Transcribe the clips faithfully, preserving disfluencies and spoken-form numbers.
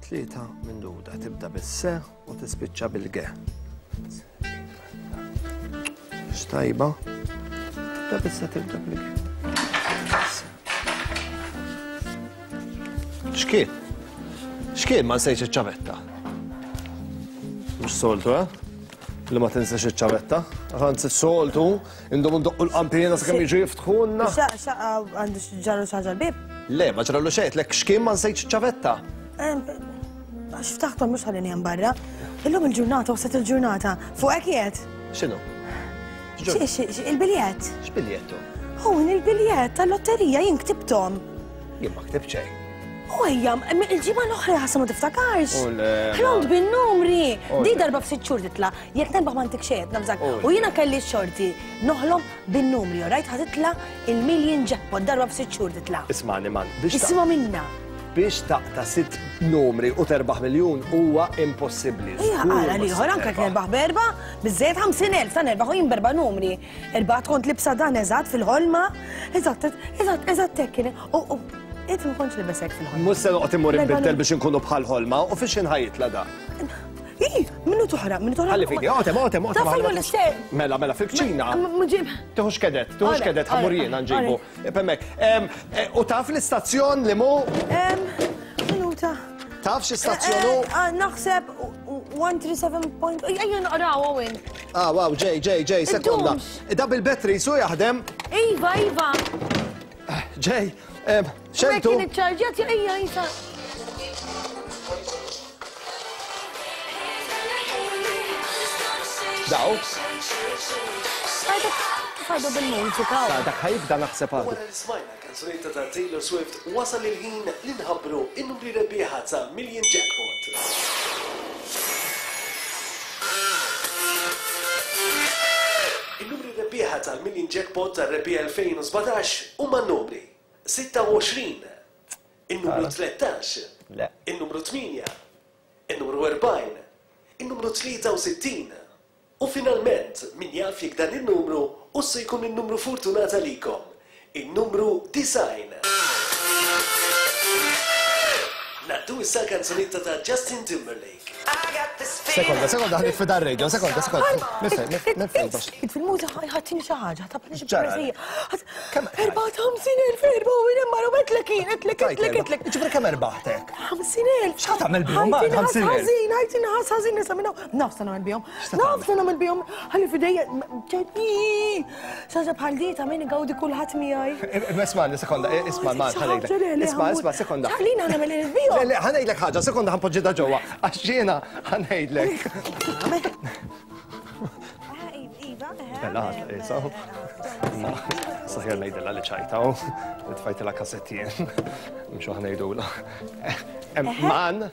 Tlieta minn duda, tibda bis-se u tispiċċa bil-ge. X'tajba? Tibda bis-se, tibda bil-ge. X'kien? X'kien ma nsejx iċ-ċavetta? Mhux soltu, eh? Li ma tinsex iċ-ċavetta. Anzi soltu, indhom ndoqqu l-qampina sakemm jiġu jiftħulna. Xaqa għandu ġarru xi ħaġa l-bib? Le, ma ġralu xejn, lek x'kien ma nsejx iċ-ċavetta? Għax ftaħtom mhux ħallini hemm barra. Illum il-ġurnata, waslet il-ġurnata. Fuq hekk qiegħed? X'inhu? Il-biljett. X'biljettu? Hawn il-biljett tal-lotterija jien ktibthom. Jien ma ktibt xejn. U ejja, il-ġimgħa l-oħra ħassa ma tiftakarx. Ħlont bin-numri. Di darba f'sitt xhur titla', jekk nerbaħ ma ntik xejn, nafżak. U jiena kelli x-xorti noħlom bin-numri, rajt ħa titla' il-million jackpot darba f'sitt xhur titla'. Ismani man, biex Isma' minna. Biex taqta' sitt numri u terbaħ miljun huwa impossibbli. Ija, għala liħor, anke jekk nerbaħ berba, biżżejjed ħamsin elf ta' nerbaħ u jien berba numri. Erbat kont libsa dan eżatt fil-ħolma, eżatt, eżatt, eżatt hekk kien. U inti ma kontx libes hekk fil-ħolma. Mhux se noqgħod immur inbiddel biex inkunu bħal ħolma u fiex inħajjitla da. Ij, minnu toħra, minnu toħra. Ħalli fidi, otem, otem, otem. Ta' fejn l-ister. Mela, mela, fil-kċina. Tuħux kedet, tuħux kedet, ħammur jiena nġibu. Pemmek, u taf l-istazzjon li mu? Minuta. Taf xi stazzjon hu? Naħseb one three seven point. Ejja naqraw hawn. Ah, wow, ġej, ġej, ġej, sekonda. Da bil-battery su jaħdem. Iva, iva. Ġej, xentu. Kien iċċarġjat, ejja, jisa. Daw. Fajdu bil-mużika. Dak ħajibda naħseb għadu. Wara li smajna kanzunetta ta' Taylor Swift wasal il-ħin li nħabbru in-numri rebbieħa ta' Million Jackpot. In-numri rebbieħa tal-Million Jackpot tar-rebbieħa elfejn u sbatax huma n-numri sitta u għoxrin, in-numru tlettax, in-numru tmienja, in-numru erbgħin, in-numru tlieta u sittin. U finalment, min jaf jekk dan il-numru u se jkun il-numru fortunata likom, il-numru design. Naddu issa l-kanzunetta ta' Justin Timberlake. Sekonda, sekonda, ħanit fida r-radio, sekonda, sekonda. Mifej, mifej, bax. Fil-muża ħattini xi ħaġa, tabni xi Ġara. poeżija. Erba' ħamsin elf, erba' u jien marru etlek jien, etlek, etlek, etlek. Ġifri kemm erbaħtek? Ħamsin elf. X'ħa tagħmel bihom? Ħajti Ħamsin nħass elf. ħażin, ħajti nħass ħażin nisa minn hawn. Naf se nagħmel bihom. Naf se nagħmel bihom. Ħalli fidejja, xi ħaġa bħal di ta' min igawdi kulħadd miegħi. Isma' sekonda, isma' ma ħanejlek. Isma' isma' sekonda. Ħallina nagħmel il-bihom. Le, le, ħanejdlek ħaġa, sekonda ħanpoġġi da ġewwa. Għax jiena ħanejdlek. Bella, isa. Ma, saħjar ngħidilha li ċajta, u tfajtilha kassettien. Mhux ħanejdula. Man.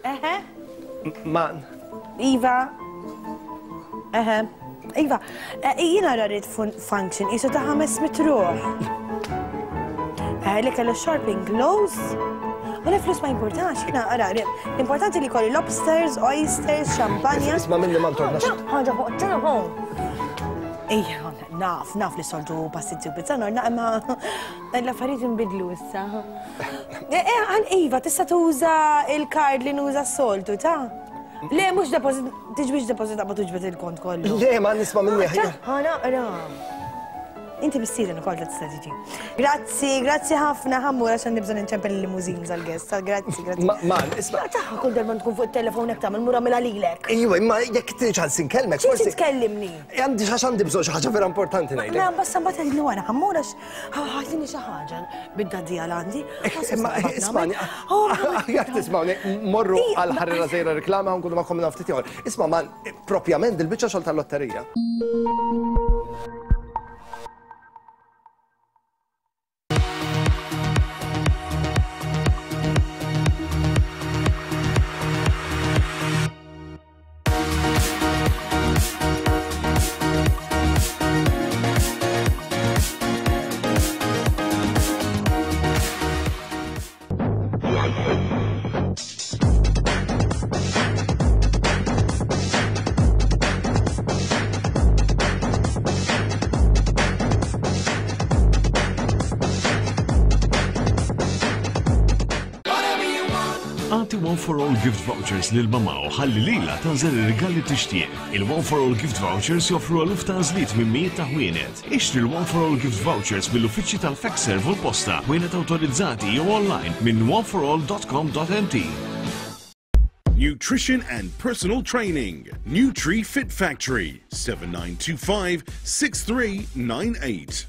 Man. Iva. Eħe. Iva, jiena rarit function, isu ta' ħames mitruħ. Li kellu shopping close. U le flus ma importax, jiena ara, l-importanti li kolli lobsters, oysters, xampanja. Isma' minni ma ntornax. Ħaġa fuq telefon. Ejja, naf, naf li soltu pastizzi u pizza norna, imma l-affarijiet inbidlu issa. Eh, Iva, tista' tuża il-kard li nuża s-soltu, ta'? Le, mhux deposit, tiġbix deposit qabel tuġbed il-kont kollu. Le, ma nisma' minni. Ħa naqra. Inti mistieden ukoll tista' tiġi. Grazzi, grazzi ħafna ħammur għax għandi bżonn inċempel il-limużin għall-guest. Grazzi, grazzi. Ma, isma'. Taħħa kull darba tkun fuq it-telefon hekk tagħmel mura mela lilek. Ejwa, imma jekk trid ħalsi nkellmek forsi. Tkellimni. Għandi xi għandi bżonn xi ħaġa vera importanti ngħidlek. Ma basta mbagħad tgħidli wara ħammur għax ħatini xi ħaġa bid-dadija l għandi. Imma ismani, jekk tismawni, morru għal ħarira żejra reklama u nkunu magħkom ftit ieħor. Isma' man, propjament il-biċċa xogħol tal-lotterija. One for All gift vouchers lil mama u ħalli lilha tagħżel ir-rigal li tixtieq. Il-One for All gift vouchers joffru eluf ta' għażliet minn mijiet ta' ħwienet. Ixtri l-One for All gift vouchers mill-uffiċċji tal-Fexserv u l-posta, ħwienet awtorizzati jew online minn one for all dot com dot m t. Nutrition and personal training. Nutri Fit Factory, seven nine two five, six three nine eight.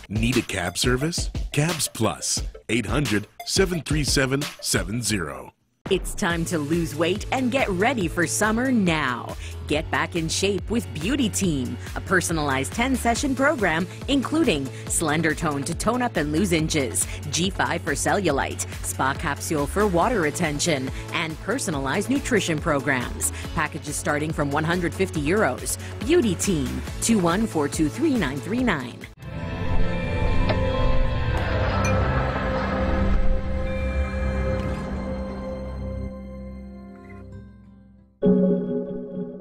Need a cab service? Cabs Plus, eight hundred, seven three seven, seven zero. It's time to lose weight and get ready for summer now. Get back in shape with Beauty Team, a personalized ten-session program including Slender Tone to tone up and lose inches, G five for cellulite, Spa Capsule for water retention, and personalized nutrition programs. Packages starting from one hundred fifty euros. Beauty Team, two one four two three nine three nine.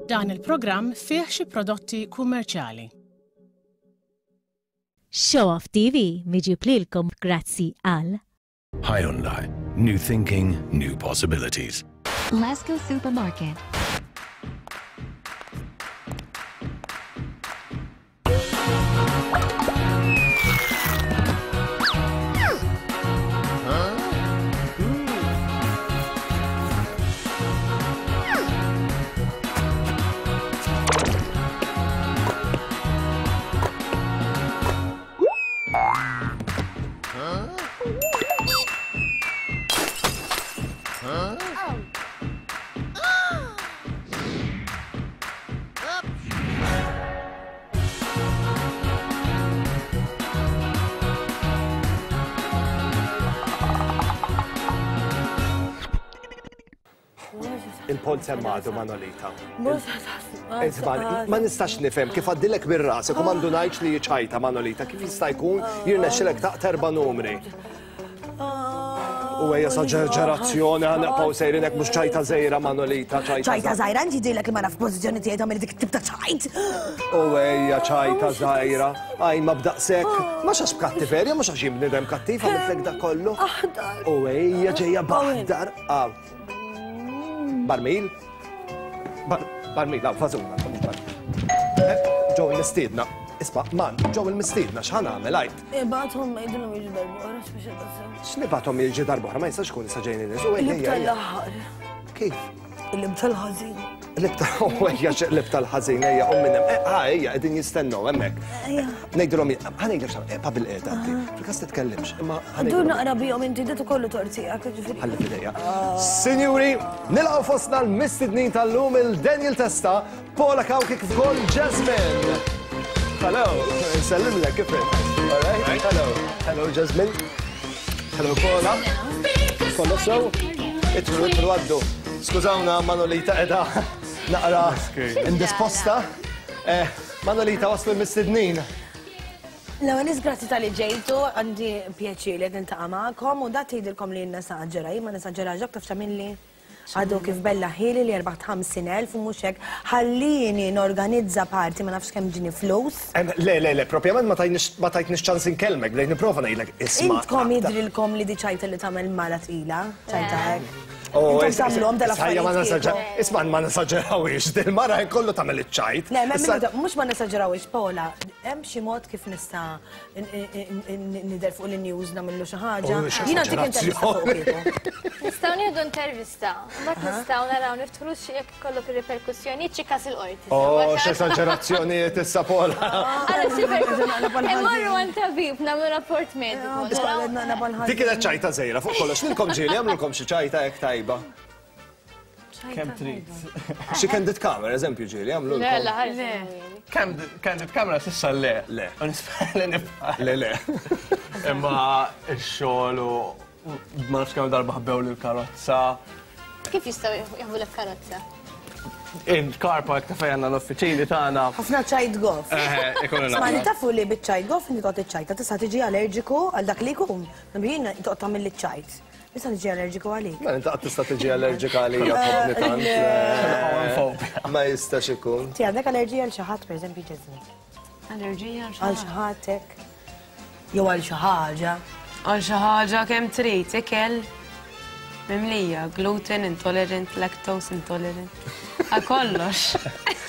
Dan il-programm fih xi prodotti kummerċjali. Show Off T V miġib lilkom grazzi għal Hyundai. New thinking, new possibilities. Lasco Supermarket. Il-pont semmadu Manolita. Ma nistax nifhem kif għaddilek bir-ras, u għandu ngħid li ċajta Manolita, kif jista' jkun jirnexxilek taqta' erba' numri. U ejja esaġerazzjoni, ħanaqgħu sejrinek mhux ċajta żgħira Manolita, ċajta. Ċajta żgħira, inti jidhirlek li ma naf pożizzjoni tiegħi tagħmel dik it-tip ta' ċajt. U ejja ċajta żgħira, għaj ma b'daqshekk, mhux għax b'kattiverja, mhux għax jien bniedem kattiv għamiltlek dak kollu. U ejja ġejja b'aħdar. Barmil? Barmil, law, fażuna. Ġew il-mistiedna. Isma', man, ġew il-mistiedna, x'ħa nagħmel għajt? Ibgħathom jgħidulhom jiġu darb'oħra biex jitqassew. X'nibgħathom jiġu darb'oħra, ma jistax ikun issa ġejjin in-nies. Il-lib tal-aħħar. Kif? Il-lib tal-ħażin. Il-lib tal-ħażin, tal-ħażin, ejja, u minn hemm. Ha, ejja, qegħdin jistennew hemmhekk. Ngħidulhom, ħa ngħidlek xi ħaġa, eqpa' bil-qiegħda inti. Fil-każ titkellimx, imma ħa Dur naqra bihom inti dit ukollu tortijak, ġifieri. Ħalli f'idejja. Sinjuri, nilqgħu fostna l-mistednin tal-lum il-Daniel Testa, Paula Cauchi kif ukoll Jasmine. Hello, nsellimlek kif int? All right? Hello. Hello Jasmine. Hello Paula. Kollox sew? Idħlu, idħlu għaddu. Skużawna Manolita qiegħda naqra indisposta. Manolita waslu l-mistednin. L-ewwel nies grazzi tal-li ġejtu, għandi pjaċir li qed niltaqa' magħkom u da tgħidilkom li nesaġġera, jien ma nesaġġerax dak taf x'għamilli. Għadu kif bella ħili li erbaħt ħamsin elf u mhux hekk, ħallini norganizza parti ma nafx kemm ġini flus. Le, le, le, propjament ma tajtniex ċans inkellmek, bdejt nipprova ngħidlek isma'. Intkom jidrilkom li di ċajta li tagħmel mala tqila, ċajta hekk. Oh, Intom tagħmluhom dal-affarijiet. Isma' ma nesaġġerawhiex, dil-mara kollu tagħmel iċ-ċajt. Le, mhux ma nesaġġerawhiex, Paola, hemm xi mod kif nista' nidher fuq il-news nagħmillu xi ħaġa. Jiena ntik intervista fuq kieku. Nistgħu nieħdu intervista, mbagħad nistgħu naraw niftħu xi jekk ikollok ir-riperkussjonijiet xi każ il-qorti. Oh, x'esaġerazzjonijiet issa Paola. Ara xi Immorru għand tabib nagħmlu rapport mediku. Dik kienet ċajta żgħira fuq kollox, lilkom ġieli għamlulkom xi ċajta hekk tajba. Kemm trid. Xi candid camera, eżempju ġieli, għamlu. Le, le, le. Candid camera s'issa le. Le. U nispera li nibqa'. Le, le. Imma x-xogħol u ma nafx kemm darba ħbew lil karozza. Kif jistgħu jaħbu lek karozza? Il-car park ta' fejn għandna l-uffiċini tagħna. Ħafna ċajt goff. Eh, ikunu Ma li naqra. tafu li biċ-ċajt goff inti toqgħod iċ-ċajta tista' tiġi allerġiku għal dak li jkun. Jien toqgħod tagħmel iċ-ċajt. Tista' tiġi allerġiku għalik. Ma inti qatt tista' tiġi allerġika għalija tħobbni tant. Le. Ma jistax ikun. Ti għandek allerġija għal xi ħadd pereżempju ġeżni. Allerġija għal Għal xi ħadd hekk. Jew għal xi ħaġa. Għal xi ħaġa kemm trid, ikel mimlija, gluten intolerant, lactose intolerant. Għal kollox.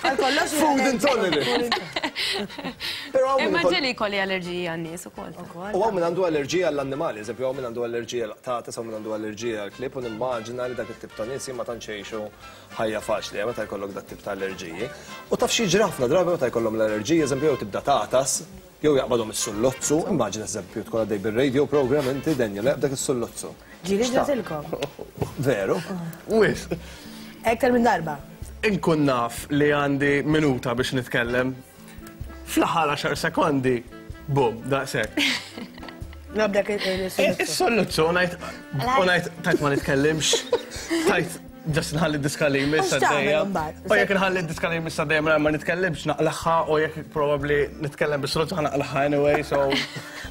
Għal kollox. Food intolerant. Però hawn min Imma ikoll- ġieli jkolli allerġija għan-nies ukoll. U hawn min għandu allerġija għall-annimali, eżempju, hawn min għandu allerġija għall-qtates, hawn min għandu allerġija għall-klieb, u nimmaġina li dak it-tip ta' nies ma tantx jgħixu ħajja faċli, eh, meta jkollok dak tip ta' allerġiji. U taf xi jiġri ħafna drabi meta jkollhom l-allerġiji, eżempju, jew tibda tagħtas, jew jaqbadhom is-sullozzu, immaġina eżempju tkun għaddej bir-radio program inti Daniel, jaqbdak is-sullozzu. Ġieli ġratilkom. Veru? Wisq. Ektar minn darba. Inkun naf li għandi minuta biex nitkellem. Fl-aħħar għaxar sekondi, bum, daqshekk. Nabdak il-sullozzu. Is-sollozzu, u ngħid u ngħid tajt ma nitkellimx, tajt just nħalli d-diska li jmiss U x'tagħmel għaddejja. imbagħad? U jekk nħalli d-diska li jmiss għaddejja mingħajr ma nitkellimx naqlaħħa u jekk probably nitkellem bis-sollozzu ħa naqlaħħa anyway, so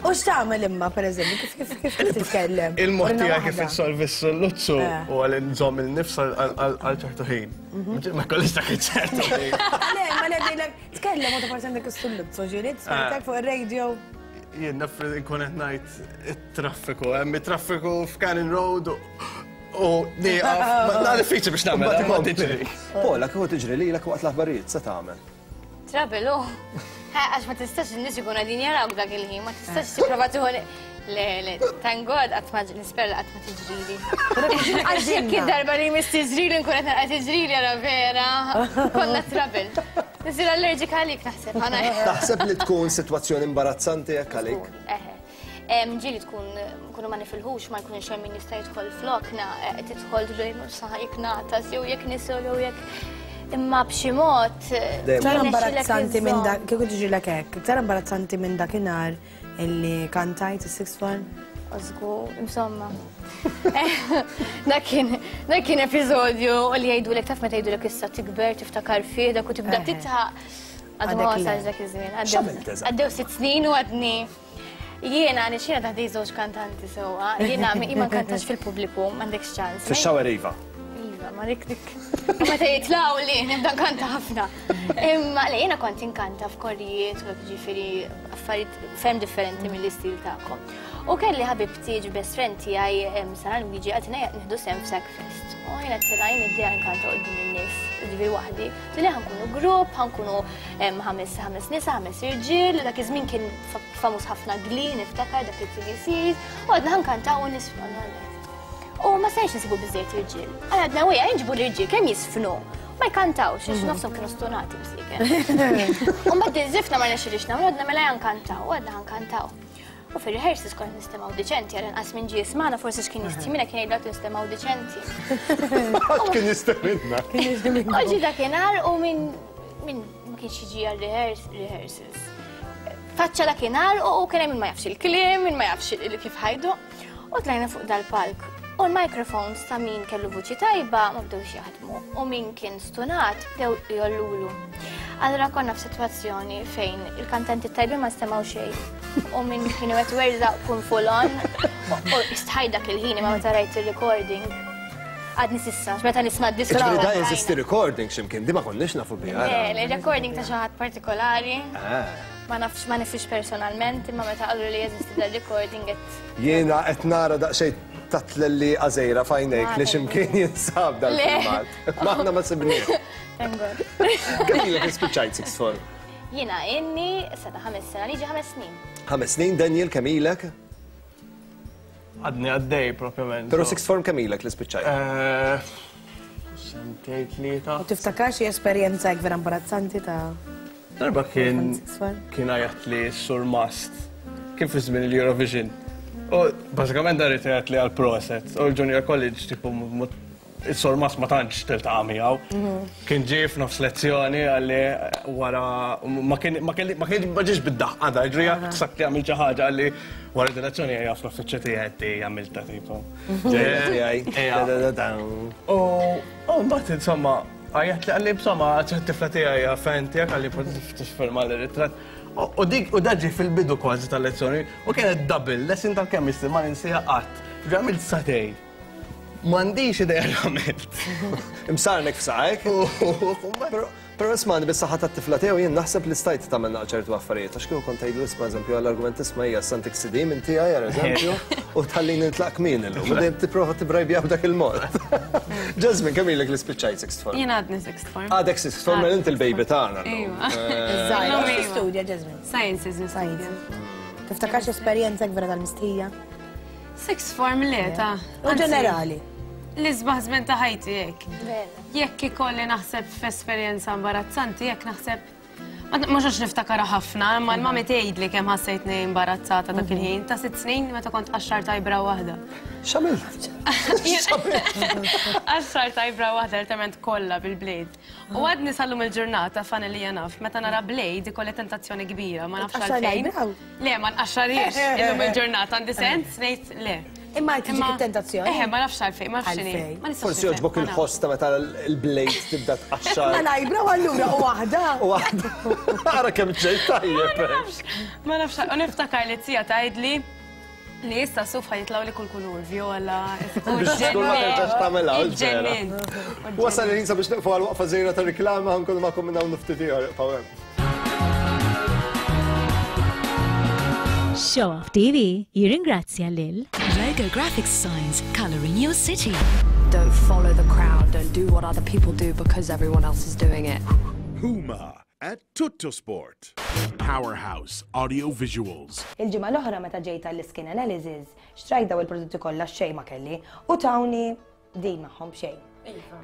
U x'tagħmel imma pereżempju kif kif kif titkellem? il-mod Urina tiegħek kif waħda. insolvi s-sollozzu Eh. u għal nżomm il-nifs għal ċertu ħin. Ma kollix dak iċ-ċertu ħin. Le, ma le ngħidlek tkellem u ta' forsi għandek is-sullozzu ġieli, smajtek fuq ir-radio. Jien naf nkun qed ngħid it-traffiku, hemm it-traffiku f'Cannon Road u- u nieqaf. Ma diffiċli biex nagħmel, ma tiġri. Paula, kieku tiġri lilek waqt l-aħbarijiet se tagħmel? Trouble, u. Għax ma tistax in-nies ikunu qegħdin jarawk dak il-ħin, ma tistax tipprova tieħu Le, le, thank God qatt ma nispera li qatt ma tiġrili. Għax jekk id-darba li jmiss tiġrili nkun qed nara tiġrili ara vera. Konna trouble. Nisir allerġika għalik naħseb ħana. Taħseb li tkun sitwazzjoni imbarazzanti jekk għalik? Eħe. Em, Ġieli tkun nkunu ma nifilħux ma jkunx hemm min jista' jidħol flokna, eh, tidħol ġej saħ jekk nagħtas jew jekk nisol jew jekk imma b'xi mod. eh, Iktar jirnexxilek imbarazzanti minn iżżomm. dak, kieku tiġrilek hekk, iktar imbarazzanti minn dakinhar illi kantajt is-sixth form. Żgur, insomma. Dak kien dak kien episodju li jgħidulek taf meta jgħidulek issa tikber tiftakar fih dak u tibda Eħe. titħaq. Għadu ma Għadek le. wasalx dak iż-żmien. Għaddew- X'għamilt eżatt? Għaddew sitt snin u għadni. Jiena nixxiena taħdej żewġ kantanti sewwa. Jiena ma nkantax fil-pubbliku, m'għandekx ċans. Fix-shower iva. Iva, ma dik dik. U Meta jitlgħu li nibda nkanta ħafna. Imma le jiena kont inkanta f'korrijiet u hekk ġifieri affarijiet ferm differenti mill-istil tagħkom. U kelli ħabibti ġi best friend tiegħi em, Sara Luigi għaltina nieħdu sehem f'Sackfest. U jiena għedtilha jien id nkanta quddiem in-nies, ġifieri waħdi. Tili ħa nkunu grupp, ħa nkunu em, ħames ħames nisa, ħames irġiel, dak iż-żmien kien fa- famuż ħafna Glee, niftakar dak it-TV series, u għadna ħa nkantaw u nisfnu U ma stajx nsibu biżejjed irġiel. Għadna wija nġibu l-irġiel kemm jisfnu. Ma jkantawx, għax nofshom kienu stonati bsiken. U mbagħad iż-żifna ma rnexxilix nagħmlu, għadna mela nkantaw, għadna nkantaw. U fir-rehearsals kont nistemgħu diċenti, għal inqas minn ġie jismagħna forsi x'kien jistimina kien jgħidlu nistemgħu diċenti. Kien jistemminna. U ġi dakinhar u minn min ma kienx jiġi għal rehearsals. Faċċa dakinhar u u kien hemm min ma jafx il-kliem, min ma jafx il- kif ħajdu. U tlajna fuq dal-palk. U l-microphones ta' min kellu vuċi tajba ma bdewx jaħdmu. U min kien stunat bdew jollulu. Allora konna f'sitwazzjoni fejn il-kantanti tajbin ma stemgħu xejn. U min kienu qed werza kun full on. U istħaj dak il-ħin imma meta rajt il-recording. Għadni s'issa, meta nisma' d-diska. Ġifieri da jeżisti recording x'imkien, di ma konniex nafu biha. Le, le, recording ta' xi ħadd partikolari. Ah. Ma nafx ma nifix personalment, imma meta qalu li jeżisti dal recording qed Jiena qed nara daqsxejn tatlelli għażejra f'għajnejk li x'imkien jinsab dal-filmat. Ma aħna ma sibniex. Thank God. Kemm ilek ispiċċajt sixth form? Jiena inni seta' ħames sena liġi ħames snin. Ħames snin, Daniel, kemm ilek? Għadni għaddej propjament. Però sixth form kemm ilek li spiċċajt? Eh, Sentejn tlieta. U tiftakar xi esperjenza hekk vera imbarazzanti ta' Darba kien Sixth form? kien għajat li Sur Mast kien fi żmien il-Eurovision. U bażikament dar jgħid li għal proset. U l-Junior College tipo mu- il-Sur Mast ma tantx tiltaqa' miegħu. Kien ġie f'nofs lezzjoni għalli wara ma kien ma kien ma kien ma ġiex bid-daħqa da, ġri sak li għamil xi ħaġa għalli wara di lezzjoni ejja fl-uffiċċju tiegħi għamilta tipo. Ġejja tiegħi. Ejja. Da, da, da, da. U u mbagħad insomma Għajjat li qalli insomma, t-tifla tiegħi fan tiegħek qalli tifirma l-ritratt. U dik u daġi fil-bidu kważi tal-lezzjoni u kienet double lesson tal-chemistry ma ninsiha qatt. Għamilt sagħtejn. M'għandix idea għamilt. Imsarnek f'saqajk. Però isma' bis-saħħa tat-tifla tiegħu jien naħseb li stajt tagħmel ċertu affarijiet għax kieku kont tgħidlu isma' eżempju għall-argument isma' hija santik C D minn tiegħi għal eżempju u tħallini nitlaq kmin illum. U dejjem tipprova tibrajbija b'dak il-mod. Jasmine, kemm ilek li spiċċajt sixth form? Jien għadni sixth form. Għadek sixth form, mela inti l-baby tagħna. Iva. Iżgħira, studja Jasmine? Sciences nistudja. Tiftakarx esperjenza vera tal-mistħija? Sixth form le ta'. U ġenerali. L-isbaħ żmien ta' ħajti hekk. Jekk ikolli naħseb f'esperjenza imbarazzanti, jekk naħseb mhux għax niftakara ħafna, imma l-mami tgħidli kemm ħassejtni imbarazzata dak il-ħin ta' sitt snin meta kont qaxxar tajbra waħda. X'għamilt? Qaxxar tajbra waħda literalment kollha bil-blade. U għadni sal-lum il-ġurnata fan li naf, meta nara blade ikolli tentazzjoni kbira, ma nafx għalfejn. Le, ma nqaxxarhiex illum il-ġurnata għandi sens ngħid le. Imma tiġik it-tentazzjoni. Eħe, ma nafx għalfejn, ma nafx x'inhi. Forsi jogħġbok il-ħoss ta' meta l-blade tibda tqaxxar. Ma lajbra u allura u waħda. U waħda. Ara kemm ġejt tajjeb. Ma nafx, u niftakar li t-sija tgħidli li issa suf ħajitlgħu li kull kulur, viola, Biex tkun ma terġax tagħmilha, vera. Wasal il-ħin sabiex nieqfu għal waqfa żgħira ta' riklama ħankunu magħkom minn hawn ftit ieħor ibqgħu hemm. Show Off T V jirringrazzja lil Logo Graphics Signs, colouring your city. Don't follow the crowd, don't do what other people do because everyone else is doing it. Puma at Tuttosport. Powerhouse Audio Visuals. Il-ġimgħa l-oħra meta ġejt għall-skin analysis, xtrajt daw il-prodotti kollha xejn ma kelli u tawni din magħhom xejn.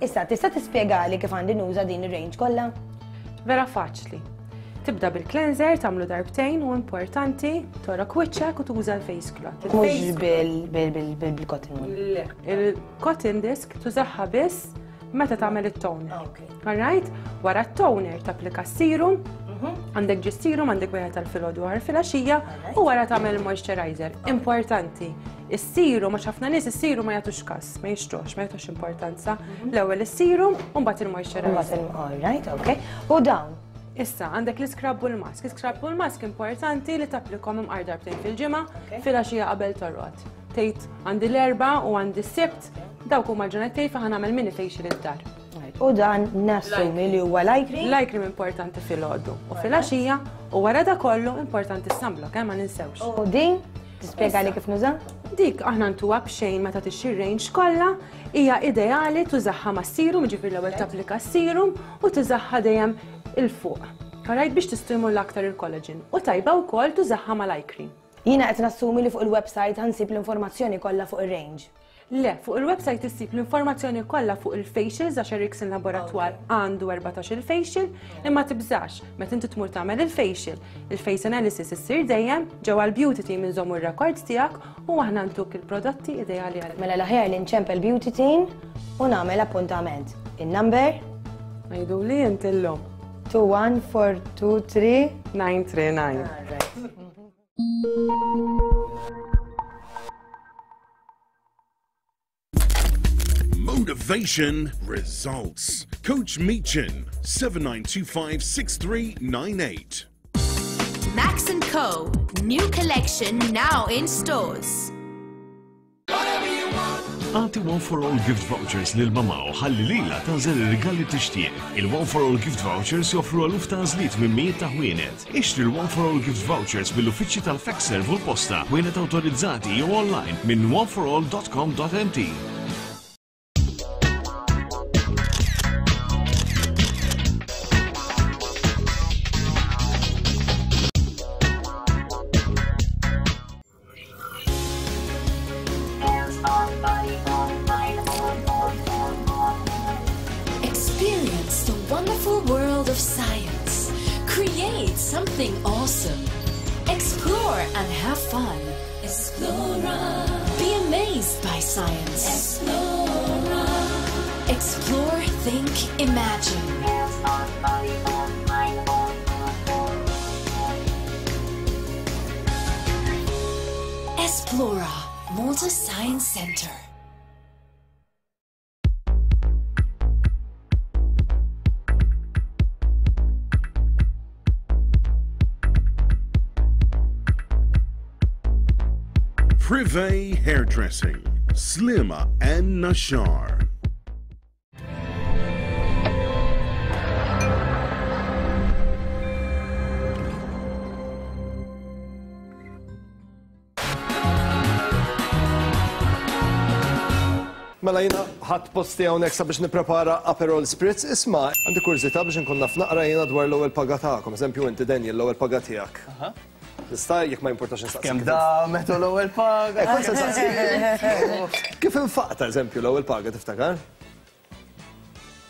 Issa tista' tispjegali kif għandi nuża din ir-range kollha? Vera faċli. Tibda bil-cleanser, tagħmlu darbtejn u importanti torok wiċċek u tuża l-face cloth. Mhux bil-cotton wool. Le, il-cotton disc tużaha biss meta tagħmel it-toner. All right? Wara t-toner tapplika s-serum, għandek ġi serum, għandek wieħed tal-filgħodu għar filgħaxija u wara tagħmel moisturizer. Importanti. Is-serum, għax ħafna nies is-serum ma jagħtux każ, ma jixtrux, ma jagħtux importanza. L-ewwel is-serum u mbagħad il-moisturizer. All right, okay. U dawn. Issa, għandek l-iskrab u l-mask. L-iskrab u l-mask importanti li tapplikom imqar darbtejn fil-ġimgħa, filgħaxija qabel torqod. Tgħid għandi l-erba' u għandi s-sibt, dawk huma l-ġranet tiegħi fejn nagħmel mini facial id-dar. U dan nassumi li huwa light cream? Light cream importanti filgħodu u filgħaxija u wara da kollu importanti s-sunblock, eh, ma ninsewx. U din tispjegali kif nuża? Dik aħna ntuha b'xejn meta tixxi range kollha, hija ideali tużaħħa mas-serum, jiġifieri l-ewwel tapplika s-serum u tużaħħa dejjem il-fuq. Alright, biex tistimula aktar il-collagen. U tajba wkoll tużaħħa mal-eye cream. Jiena qed nassumi li fuq il-website ħansib l-informazzjoni kollha fuq ir-range. Le, fuq il-website issib l-informazzjoni kollha fuq il-facials għax Erickson Laboratoire għandu erbatax il-facial, imma tibżax meta inti tmur tagħmel il-facial. Il-face analysis issir dejjem ġewwa l-beauty team inżommu r-records tiegħek u aħna ntuk il-prodotti ideali għalik. Mela l-aħjar li nċempel beauty team u nagħmel appuntament. In-number? Ngħiduli inti llum. two one four two three nine three nine. Motivation results. Coach Meechan, seven nine two five six three nine eight. Max and Co. New collection now in stores. Għati One for All gift vouchers lil mama u ħalli lila tagħżel ir-rigal li tixtieq. Il-One for All gift vouchers joffru eluf ta' għażliet minn mijiet ta' ħwienet. Ixtri l-One for All gift vouchers mill-uffiċċji tal-Fexserv u l-posta, ħwienet awtorizzati jew online minn one for all dot com dot m t. Experience the wonderful world of science. Create something awesome. Explore and have fun. Explora. Be amazed by science. Explora. Explore, think, imagine. Esplora, Malta Science Center. Privé Hairdressing, Sliema and Naxxar. Mela jiena ħadt posti hawnhekk sabiex nipprepara Aperol Spritz. Isma', għandi kurżità biex inkun naf naqra jiena dwar l-ewwel paga tagħkom. Eżempju inti Daniel l-ewwel paga tiegħek. Nista' jekk ma jimportax nistaqsi. Kemm damet u l-ewwel paga. Eh, kont se nsaqsi. Kif infaqta eżempju l-ewwel paga tiftakar?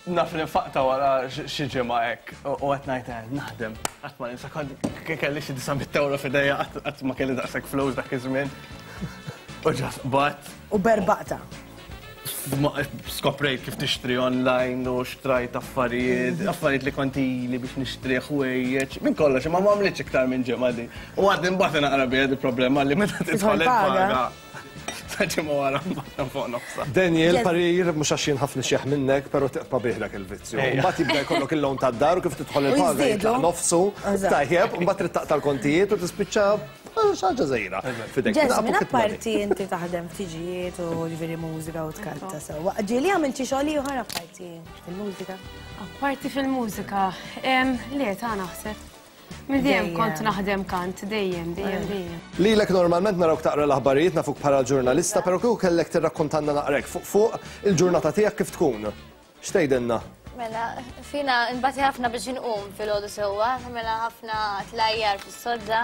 Naf li nfaqta wara xi ġimgħa hekk u qed ngħid eh, naħdem. Qatt ma ninsa kont kelli xi disa' mitt ewro f'idejja qatt ma kelli daqshekk flus dak iż-żmien. U ġas bat. U berbaqta. Skoprejt kif tixtri online u xtrajt affarijiet, affarijiet li kont ili biex nixtri ħwejjeġ, minn kollox, imma ma għamlitx iktar minn ġimgħa di. U għadni mbagħad naqra biha di problema li meta tidħol il-paga. Sa ġimgħa wara mbagħad fuq nofsha. Daniel, parir mhux għax jien ħafna xieħ minnek, però tibqa' bih dak il-vizzju. Mbagħad jibda jkollok il-loan tad-dar u kif tidħol il-paga jitlaq nofsu, tajjeb, u mbagħad trid taqta' l-kontijiet u tispiċċa xi ħaġa żgħira. Jasmine, apparti inti taħdem f'tiġijiet u ġifieri mużika u tkanta sewwa. Ġieli għamilt xi xogħol ieħor apparti fil-mużika? Apparti fil-mużika, le ta' naħseb. Minn dejjem kont naħdem kant, dejjem, dejjem, dejjem. Lilek normalment narawk taqra l-aħbarijiet nafuk bħala ġurnalista, però kieku kellek tirrakkontanna naqrek fuq fuq il-ġurnata tiegħek kif tkun. X'tgħidilna? Mela, fina nbati ħafna biex inqum fil-għodu sewwa, mela ħafna tlajjar fis-sodda.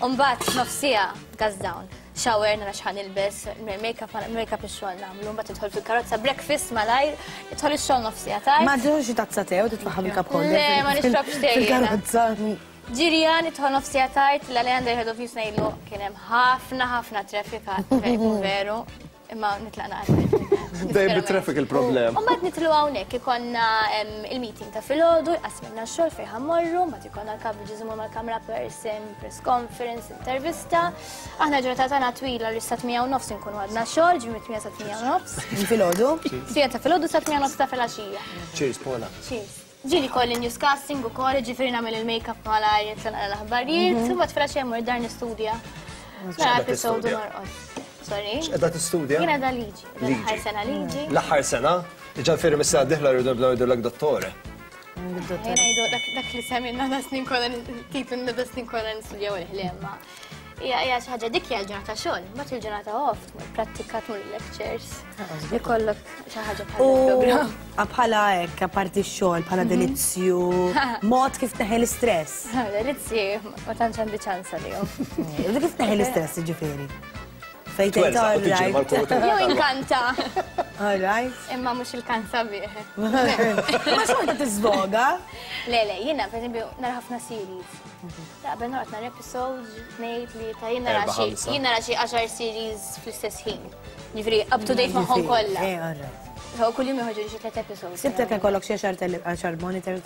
U mbagħad nofsija gas down. Shower nara x'ħan nilbes, make-up make-up ix-xogħol nagħmlu, mbagħad tidħol fil-karozza breakfast malajr, tidħol ix-xogħol nofsija tajt. Ma tieħux xi tazza te u titfaħħa bil-cup holder. Le, ma nixrobx te. Fil-karozza. Ġirja nidħol nofsija tard, l-Alejandro head of news ngħidlu kien hemm ħafna ħafna traffic veru. Imma nitlaq naqra. Dejjem bit-traffic il-problem. U mbagħad nitlu hawnhekk ikollna il-meeting ta' filgħodu, jqasmilna x-xogħol fejn ħammorru, mbagħad ikollna l-coverage imur mal-camera person, press conference, intervista. Aħna ġurnata tagħna twila li sa tmija u nofs inkunu għadna xogħol, ġi mit-tmija sa tmija u nofs. Filgħodu? Tmija ta' filgħodu sa tmija nofs ta' filgħaxija. Cheers, Paula. Cheers. Ġieli kolli newscasting ukoll, ġifieri nagħmel il-make-up malajr, nitla' l-aħbarijiet, u mbagħad filgħaxija mmur dar nistudja. Nara episode norqod. Sorry. X'qegħda tistudja? Jiena da liġi. L-aħħar sena liġi. L-aħħar sena? Ġifieri mis-sena d-dieħla rridu nibdew ngħidulek dottore. Jien ngħidu dak li semmilna da snin kollha titlu nibda snin kollha nistudjaw il-ħlema. Hija hija xi ħaġa dik hija l-ġurnata xogħol, mbagħad il-ġurnata off, tmur prattika, tmur lectures. Ikollok xi ħaġa bħala programm. Bħala hekk, apparti x-xogħol, bħala delizzju, mod kif teħel l-istress. Delizzji ma tantx għandi ċans għalihom. U kif teħel l-istress jiġifieri? Fejn tgħid all right. Jew inkanta. All right. Imma mhux il-kanta bih. Ma xorta tiżvoga? Le, le, jiena pereżempju nara ħafna series. Qabel noqgħod nara episodes, tnejn, tlieta, jien nara xi jien nara xi għaxar series fl-istess ħin. Jiġifieri up to date magħhom kollha. Eh, all right. So kuljum joħorġu xi tliet episodes. Sibtek ikollok xi għaxar monitor.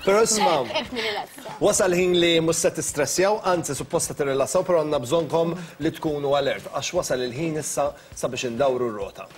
Però isma' wasal ħin li mhux se tistressjaw, anzi supposta tirrilassaw, però għandna bżonnkom li tkunu alert għax wasal il-ħin issa sabiex indawru r-rota.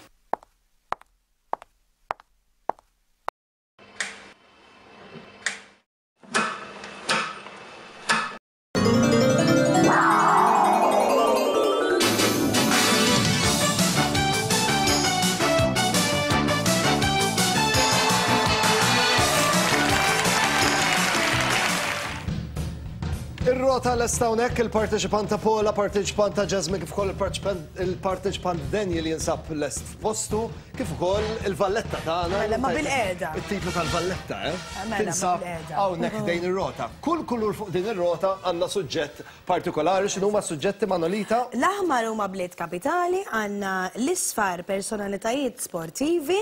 Ir-rota lesta hawnhekk il-parteċipant ta' Paula, parteċipant ta' Jasmine, kif ukoll il-parteċipant Daniel jinsab lest f'postu, kif ukoll il-valletta tagħna. Mela ma bil-qiegħda. It-titlu tal-valletta, eh? Tinsab hawnhekk dejn ir-rota. Kull kulur fuq din ir-rota għandna suġġett partikolari, x'inhuma suġġetti Manolita? L-aħmar huma bliet kapitali, għandna l-isfar personalitajiet sportivi,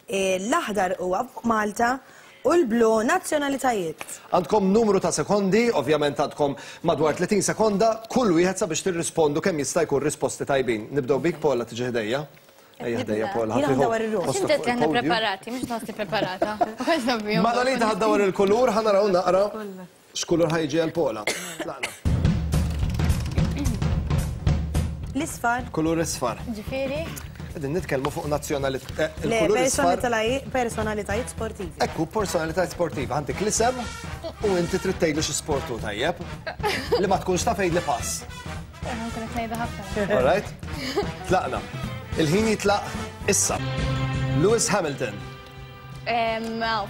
l-aħdar huwa fuq Malta, u l-blu nazzjonalitajiet. Għandkom numru ta' sekondi, ovvjament għandkom madwar tletin sekonda, kull wieħed sabiex tirrispondu kemm jista' jkun risposti tajbin. Nibdew bik Paula tiġi ħdejja. Ejja ħdejja Paula. Jiena ħdawar ir-ruħ. X'inti qed aħna preparati, mhux nħossni preparata. Manolita ħaddawar il-kulur, ħa naraw naqra x'kulur ħajġi għal Paula. Tlaqna. L-isfar. Kulur isfar. Ġifieri? Qegħdin nitkellmu fuq nazzjonalità. Le, personalitajiet sportivi. Ekku, personalitajiet sportivi. Għandek l-isem u inti trid tgħidli xi sport hu tajjeb. Li ma tkunx taf għidli pass. Nkun qed ngħidha ħafna. All right? Tlaqna. Il-ħin jitlaq issa. Lewis Hamilton.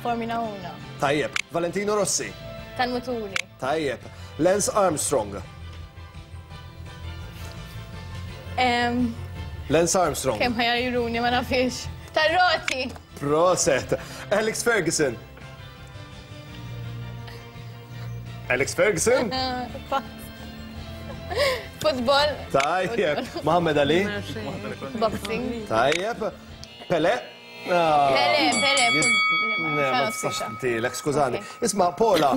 Formula uno. Tajjeb. Valentino Rossi. Tal-muturi. Tajjeb. Lance Armstrong. Lance Armstrong. Kemm ħajruni ma nafix. Tar-roti. Proset. Alex Ferguson. Alex Ferguson? Football. Tajjeb. Muhammad Ali. Boxing. Tajjeb. Pele. Pele, Pele. Ma tistax tintilek, skużani. Isma, Paula.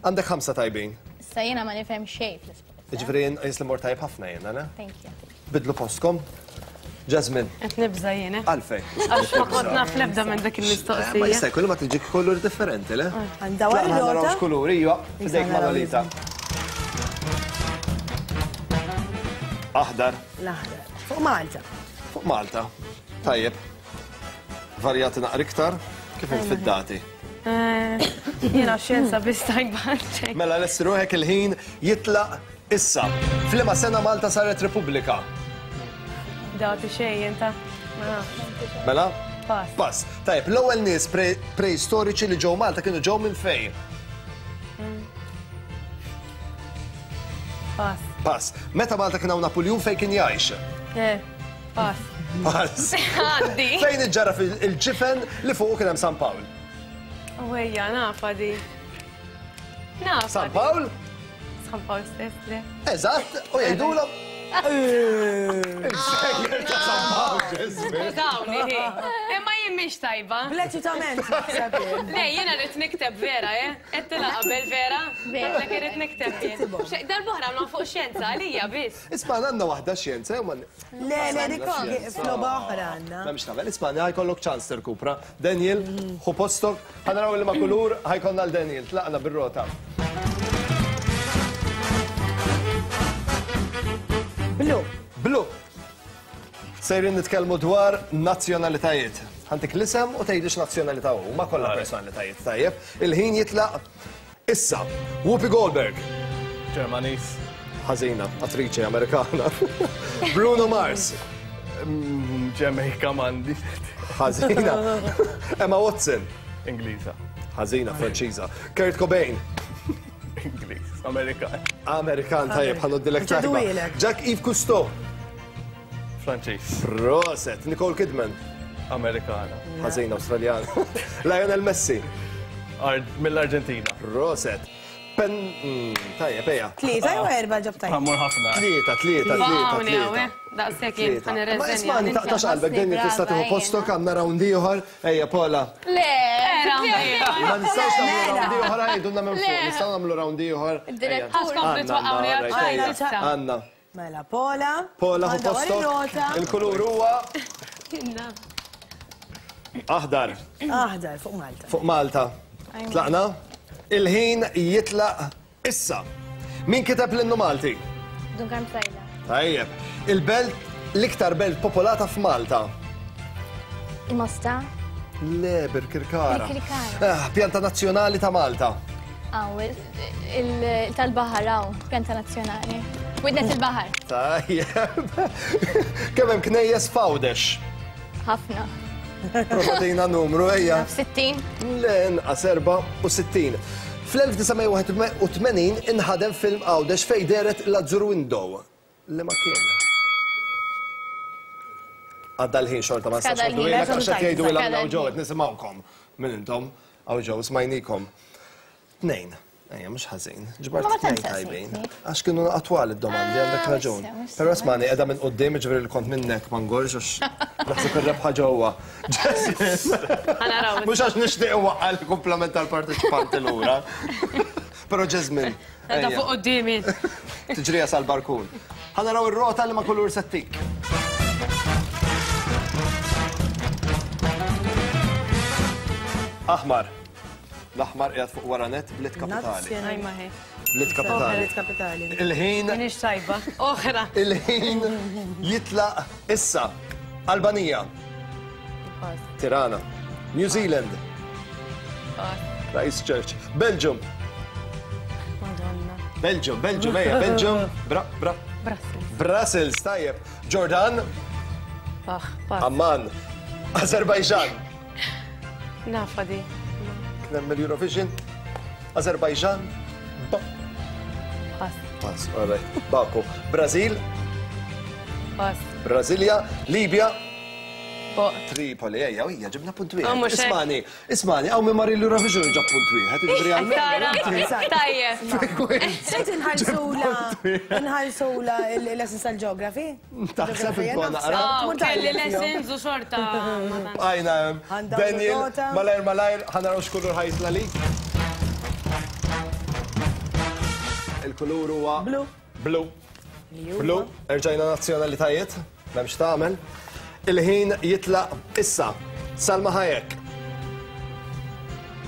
Għandek ħamsa tajbin. Issa jiena ma nifhem xejn fl-isport. Ġifieri jisli mor tajb ħafna jiena, ne? Thank you. Bidlu postkom. Jasmine. Qed nibża' jiena. Għalfejn. Għax ma kont naf l-ebda minn dak il-mistoqsija. Ma jista' jkun ma tiġik kulur differenti, le? Għandha wara rota. Kulur, iva, f'idejk Manolita. Aħdar. L-aħdar. Fuq Malta. Fuq Malta. Tajjeb. Varjati naqra iktar, kif int fid-dati? Jiena xjenza biss tajba. Mela lesti ruħek il-ħin jitlaq issa. F'liema sena Malta saret Repubblika? Dati xejn inta. Mela? Pass. Pass. Tajjeb, l-ewwel nies preistoriċi li ġew Malta kienu ġew minn fejn? Pass. Pass. Meta Malta kien hawn Napuljun fejn kien jgħix? Eh, pass. Pass. Għaddi. Fejn iġġara il-ġifen li fuq kien hemm San Pawl? Wejja, nafa di. Nafa. San Pawl? San Pawl stess, le. Eżatt, u jgħidulhom. Il-xejjer ta' San Pawl, Ġesmin. Skużawni, imma jien mhix tajba. Bleċitament. Le, jiena rrid nikteb vera, eh? Qed tilha qabel vera? Vera. Dak irrid nikteb jien. Darb'oħra għamlu fuq xjenza għalija biss. Isma' għandna waħda xjenza, jew ma. Le, le, dik f'logħba oħra għandna. M'hemmx tagħmel, isma' ħajkollok ċans tirkupra. Daniel, ħu postok, ħa naraw li ma' kulur ħajkollna l Daniel, tlaqna bir-rota. Blu. Blu. Sejrin nitkellmu dwar nazzjonalitajiet. Ħantik l-isem u tgħidix nazzjonalità hu, ma kollha personalitajiet, tajjeb. Il-ħin jitlaq issa. Whoopi Goldberg. Ġermaniż. Ħażina, attriċi Amerikana. Bruno Mars. Ġemejka mandi. Ħażina. Emma Watson. Ingliża. Ħażina, Franċiża. Kurt Cobain. Ingliż, Amerikan. Amerikan, tajjeb, ħanoddilek tajba. Jacques Yves Cousteau. Franċiż. Proset. Nicole Kidman. Amerikana. Ħażina, Awstraljana. Lionel Messi. Mill-Arġentina. Proset. Pen... Tajjeb, ejja. Tlieta jew erba' ġob tajjeb? Ħammur ħafna. Tlieta, tlieta, tlieta, tlieta. Daqshekk jien ħa nirreżenja. Ma ismani, taqtax qalbek, Daniel tista' tieħu postok, għandna round ieħor. Ejja, Paula. Le! Ma nistgħux nagħmlu round ieħor, għidulna minn fuq. Nistgħu nagħmlu round ieħor. Għandna. Mela, Paula. Paula ħu postok. Il-kulur huwa aħdar. Aħdar, fuq Malta. Fuq Malta. Tlaqna? Il-ħin jitlaq issa. Min kiteb l-innu Malti? Dun Karm Psaila. Tajjeb. Il-belt, l-iktar belt popolata f'Malta? Il-Mosta. Le, Birkirkara. Birkirkara. Pjanta nazzjonali ta' Malta. Aw, tal-baħar, aw, pjanta nazzjonali. Widnet il-baħar. Tajjeb. Kemm hemm knejjes f'Għawdex? Ħafna. Provatina numru, ejja. sittin. Le, inqas erba' u sittin. Fl-elf disa' mija wieħed u tmenin inħadem film Għawdex fej deret l-Azzur Window. Li ma kien. Għadda l-ħin xorta ma nistax ngħidu lilek għax qed jgħidu lil hawn ġew qed nisimgħukom. Min intom? Hawn ġew smajnikom. Tnejn. Ejja, mhux ħażin. Ġbart tnejn tajbin. Għax kienu attwali d-domandi, għandek raġun. Però smani qiegħda minn quddiem, ġifieri li kont minnek ma ngorx għax naħseb ir-rebħa ġewwa. Mhux għax nixtieq waqqa' l-kumplament tal-parteċipanti lura. Però Jasmine. Qiegħda fuq quddiemi. Tiġrija sal-barkun. Ħa naraw ir-rota li ma kulur settik. Aħmar. L-aħmar qiegħed fuq wara net blit kapitali. Blit kapitali. Kapitali. Il-ħin. Minix tajba. Oħra. Il-ħin jitlaq issa. Albanija. Tirana. New Zealand. Christchurch. Belgium. Madonna. Belgium, Belgium, ejja, Belgium. Bra, bra. Brussels. Brussels, tajjeb. Jordan. Aħ, pass. Amman. Azerbaijan. Nafa di. Kien hemm il-Eurovision. Azerbaijan. Ba. Pass. Pass, all right. Baku. Brazil. Pass. Brasilia. Libja. Boq. Tripoli, ejja, ejja, ġibna punt Oh, wieħed. mhux hekk. Ismani, ismani, hawn min mar il-Eurovision ġab punt wieħed. Jiġifieri għal- Tajjeb. Sejt inħallsula, inħallsula il-lessons tal-geography? Taħseb intu naqra. Oh, kelli lessons u xorta. Għajna, Għandha Daniel, nota. malajr, malajr, ħa naraw x'kulur ħa jitla' li. Il-kulur huwa Blu. Blu. Blu. Erġajna nazzjonalitajiet, m'hemmx tagħmel. Il-ħin jitlaq issa. Salma Hayek.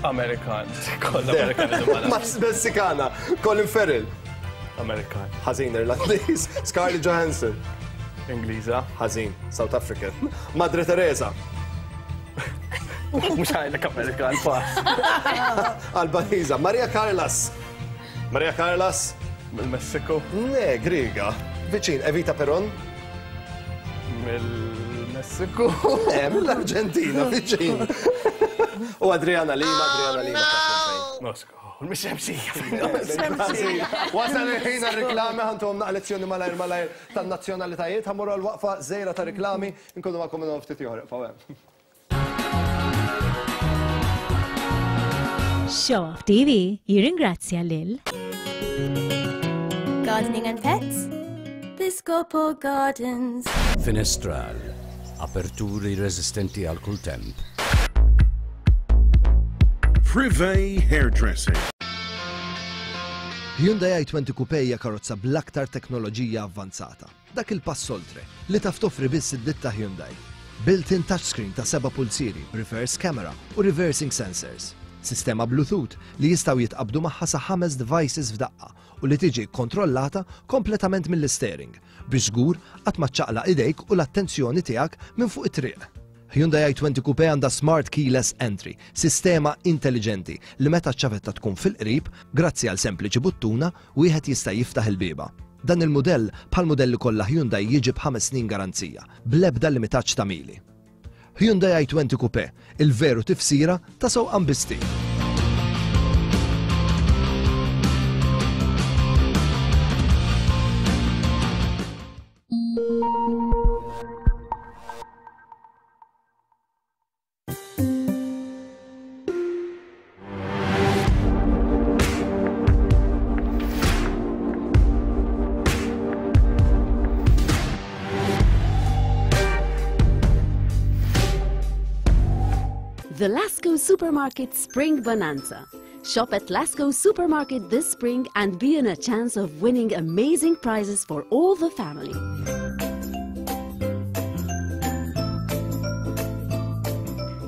Amerikan. Kollha Amerikan. Max Messikana. Colin Farrell. Amerikan. Ħażin Irlandiż. Scarlett Johansson. Ingliża. Ħażin. South African. Madre Teresa. Mhux għajlek Amerikan, pass. Albaniza. Maria Carlas. Maria Carlas. Mill-Messiku. Ne, Griega. Viċin, Evita Peron. Mill-Messiku. Eh, mill-Arġentina, viċin. U Adriana Lima, Adriana Lima. Mosku. Mix-xemxija. Wasal il-ħin għal-reklami, ħa ntuhom naqra lezzjoni malajr malajr tan-nazzjonalitajiet, ħa mmorru għal-waqfa żgħira ta' reklami, nkunu magħkom minn ftit ieħor. Ibqgħu hemm. Show Off T V jirringrazzja lil Gardening and Pets, Piscopo Gardens. Finestral, aperturi resistenti għal kull temp. Privé Hairdressing. Hyundai i twenty Coupe hija karozza bl-aktar teknoloġija avvanzata. Dak il-pass oltre li taf toffri biss id-ditta Hyundai. Built-in touchscreen ta' seba' pulsieri, reverse camera u reversing sensors. Sistema Bluetooth li jistgħu jitqabdu magħha sa ħames devices f'daqqa u li tiġi kontrollata kompletament mill-steering biex żgur qatt ma ċċaqlaq idejk u l-attenzjoni tiegħek minn fuq it-triq. Hyundai i twenty Coupe għandha Smart Keyless Entry, sistema intelligenti li meta ċ-ċavetta tkun fil-qrib, grazzi għal sempliċi buttuna, wieħed jista' jiftaħ il-bieba. Dan il-mudell bħal modelli kollha Hyundai jiġi b'ħames snin garanzija, bl-ebda limitaġġ ta' mili. Hyundai i twenty Coupe, il-veru tifsira ta' sewqan bi stil. The Lasco Supermarket Spring Bonanza. Shop at Lasco Supermarket this spring and be in a chance of winning amazing prizes for all the family.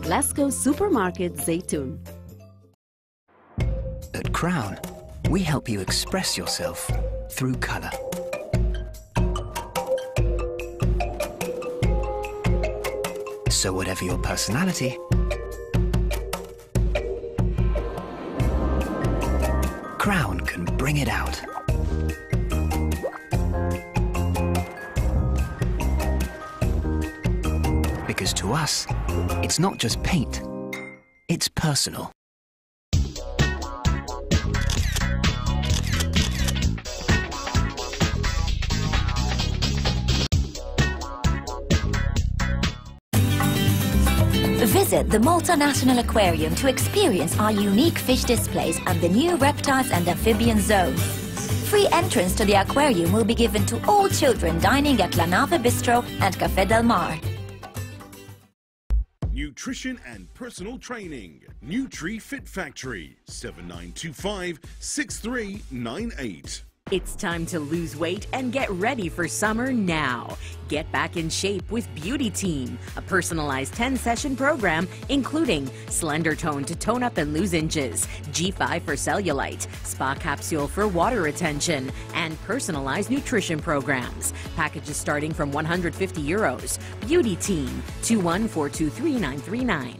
Lasco Supermarket Zaytun. At Crown, we help you express yourself through colour. So whatever your personality, Crown can bring it out. Because to us, it's not just paint, it's personal. Visit the Malta National Aquarium to experience our unique fish displays and the new reptiles and amphibian zone. Free entrance to the aquarium will be given to all children dining at La Nave Bistro and Café del Mar. Nutrition and personal training. Nutri Fit Factory, seven nine two five, six three nine eight. It's time to lose weight and get ready for summer now. Get back in shape with Beauty Team, a personalized ten-session program including Slender Tone to tone up and lose inches, G five for cellulite, Spa Capsule for water retention, and personalized nutrition programs. Packages starting from one hundred fifty euros. Beauty Team, two one four two three nine three nine.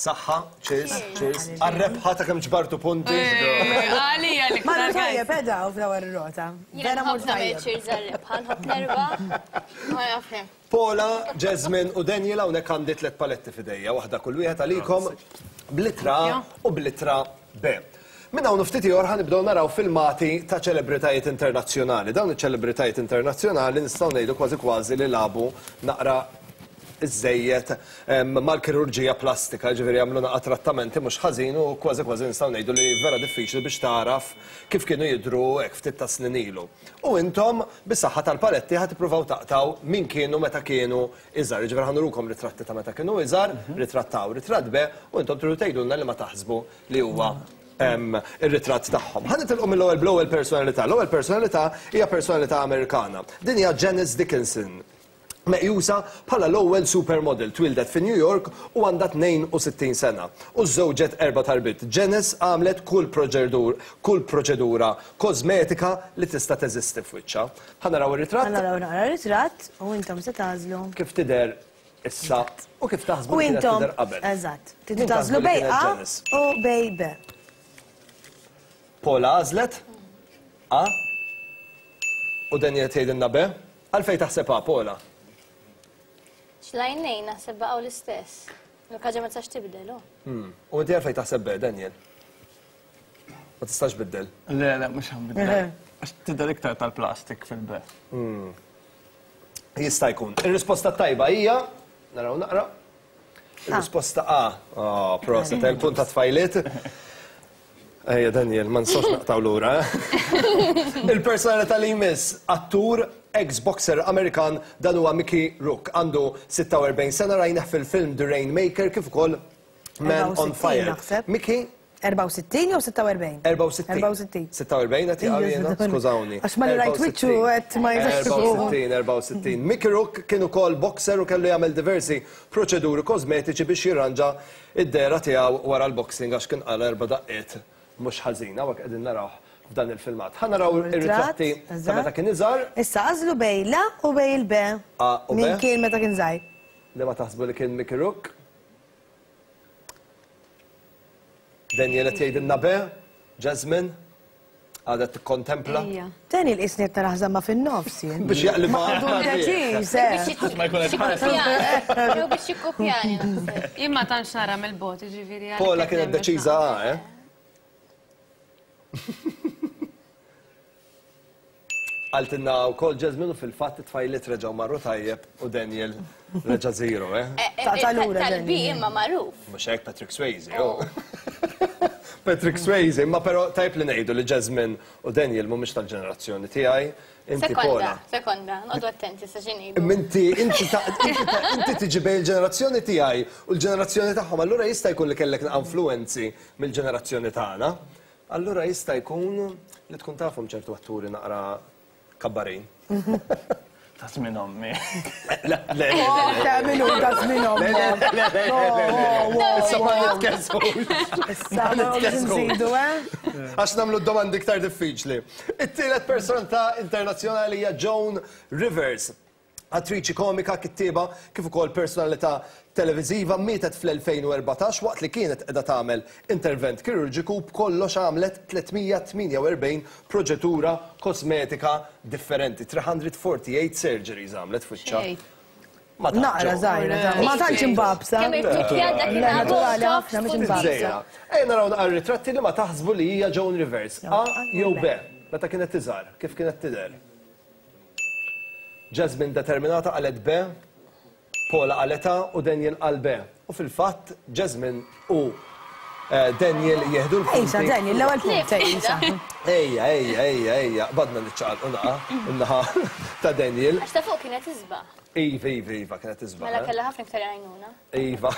Saħħa, cheers, cheers. Għar-rebħa ta' kemm ġbartu punti. Għalija li Marru tajjeb, eda u fl-ewwel rota. Jiena nħobb nagħmel cheers għar-rebħa, nħobb nerba. Ma naf kemm. Paula, Jasmine u Daniel hawnhekk għandi tliet paletti f'idejja, waħda kull wieħed għalikom bl-ittra A u bl-ittra B. Minn hawn ftit ieħor ħa nibdew naraw filmati ta' ċelebritajiet internazzjonali. Dawn iċ-ċelebritajiet internazzjonali nistgħu ngħidu kważi kważi li lagħbu naqra iż-żejjed mal-kirurġija plastika, ġifieri jagħmlu naqa' trattamenti mhux ħażin u kważi kważi nistgħu ngħidu li vera diffiċli biex tagħraf kif kienu jidhru hekk ftit ta' snin ilu. U intom bis-saħħa tal-paletti ħa tippruvaw taqtaw min kienu meta kienu iżgħar. Ġifieri ħa nurukom ritratti ta' meta kienu iżgħar, ritratt A u ritratt B, u intom tridu tgħidulna li ma taħsbu li huwa ir-ritratt tagħhom. Ħa nitilqu mill-ewwel bl-ewwel personalità. L-ewwel personalità hija personalità Amerikana. Din hija Janice Dickinson. Meqjusa bħala l-ewwel supermodel, twildet fi New York u għandha tnejn u sittin sena. U żżewġet erba' tarbit. Janice għamlet kull proċedur, kull proċedura kosmetika li tista' teżisti f'wiċċha. Ħa naraw ir-ritratt. Ħa naraw naqra r-ritratt u intom se tagħżlu. Kif tidher issa u kif taħsbu U li kienet intom, tidher qabel. eżatt, Min tridu taħsbu tagħżlu li bej kienet A Janice? u bej B. Paula għażlet A u Daniel tgħidilna B. Għalfejn taħseb A, Paula? Xlajnejn naħseb baqgħu l-istess. L-kaġa ma tistax tibdel, oh. Hmm. U inti għalfejn taħseb B, Daniel? Ma tistax biddel. Le, le, mhux ħanbiddel. Għax tidher iktar tal-plastik fil-B. Hmm. Jista' jkun. Ir-risposta tajba hija, naraw naqra. Ir-risposta A. Oh, proset, il-punt ta' tfajliet. Ejja, Daniel, ma nistgħux naqtaw lura. eh? Il-personalità li jmiss, attur, ex-boxer Amerikan, dan huwa Mickey Rourke. Għandu sitta u erbgħin sena, rajnah fil-film The Rainmaker kif ukoll Man on Fire. Naħseb. Mickey? erbgħa u sittin jew sitta u erbgħin? erbgħa u sittin. erbgħa u sittin. Sitta u erbgħin qed jaqgħu jiena, skużawni. Għax ma li rajt wiċċu qed ma jistax erbgħa u sittin, erbgħa u sittin. Mickey Rourke kien ukoll boxer u kellu jagħmel diversi proċeduri kosmetiċi biex jirranġa id-dehra tiegħu wara l-boxing għax kien qala erba' daqqiet mhux ħażina, hawnhekk qegħdin narawh f'dan il-filmat. Ħa naraw ir-ritratti ta' meta kien iżgħar. Issa għażlu bej l-A u bej il-B. A u B. Min kien meta kien żgħir. Li ma taħsbu li kien Mickey Rourke? Daniel qed jgħidilna B, Jasmine, għadha tikkontempla. Daniel qisni qed naraħ żamma fin-nofs jien. Biex jaqlibha Ma għadu għal deċiż, eh. Biex Ma jkun qed ħares. Jew biex jikkopjani naħseb. Jien ma tantx nara mill-bogħod, jiġifieri għalhekk Paula qed kienet nemmen deċiża xi A, eh? Għaltinna u kol Jasmine u fil-fatt it-tfajliet reġgħu marru tajjeb u Daniel reġa' zero, eh? Ta' lura, Tal-B Daniel. imma magħruf. Mhux hekk Patrick Swayze, oh. Patrick Swayze, imma però tajb li ngħidu li Jasmine u Daniel mhumiex tal-ġenerazzjoni tiegħi. Inti Sekonda, Paula. sekonda, noqogħdu attenti sa xi ngħidu. Imma inti, inti ta', inti ta', inti tiġi bejn il-ġenerazzjoni tiegħi u l-ġenerazzjoni tagħhom, allura jista' jkun li kellek influenzi mill-ġenerazzjoni tagħna. Allura jista' jkun li tkun tafhom ċertu atturi naqra kabbarin. Ta' żmien ommi. Le, le, le, le. Ta' min hu, ta' żmien ommi. Le, le, le, le, le, le, le. Issa ma nitkellmux. Issa Ma ma nitkellmux. nżidu, eh? Għax nagħmlu domandi iktar diffiċli. It-tielet personalità internazzjonali hija Joan Rivers. Attriċi komika, kittieba, kif ukoll personalità televiżiva, mietet fl-elfejn u erbatax waqt li kienet qiegħda tagħmel intervent kirurġiku b'kollox għamlet tliet mija tmienja u erbgħin proċedura kosmetika differenti. three hundred forty-eight surgeries għamlet f'wiċċha. Xejn. Ma tantx Naqra ġew. żgħira, ta' ma tantx imbabsa. Kemm irtukkjat dak Le, naturali ħafna mhux imbabsa. Żejra. Ejja naraw naqra ritratti li ma taħsbu li hija Joan Rivers. A jew B. Meta kienet iżgħar, kif kienet tidher? Jasmine determinata qalet B, Paula qalet A u Daniel qal B. U fil-fatt Jasmine u, eh, Daniel jieħdu l-punti. Ejsa, Daniel, l-ewwel punt, ejsa. Ejja, ejja, ejja, ejja, badna niċċaqalqu naqa, in-naħa ta' Daniel. Għax ta' fuq kienet isbaħ. Iva, iva, iva, kienet isbaħ. Mela eh? kellha ħafna iktar għajnuna. Iva.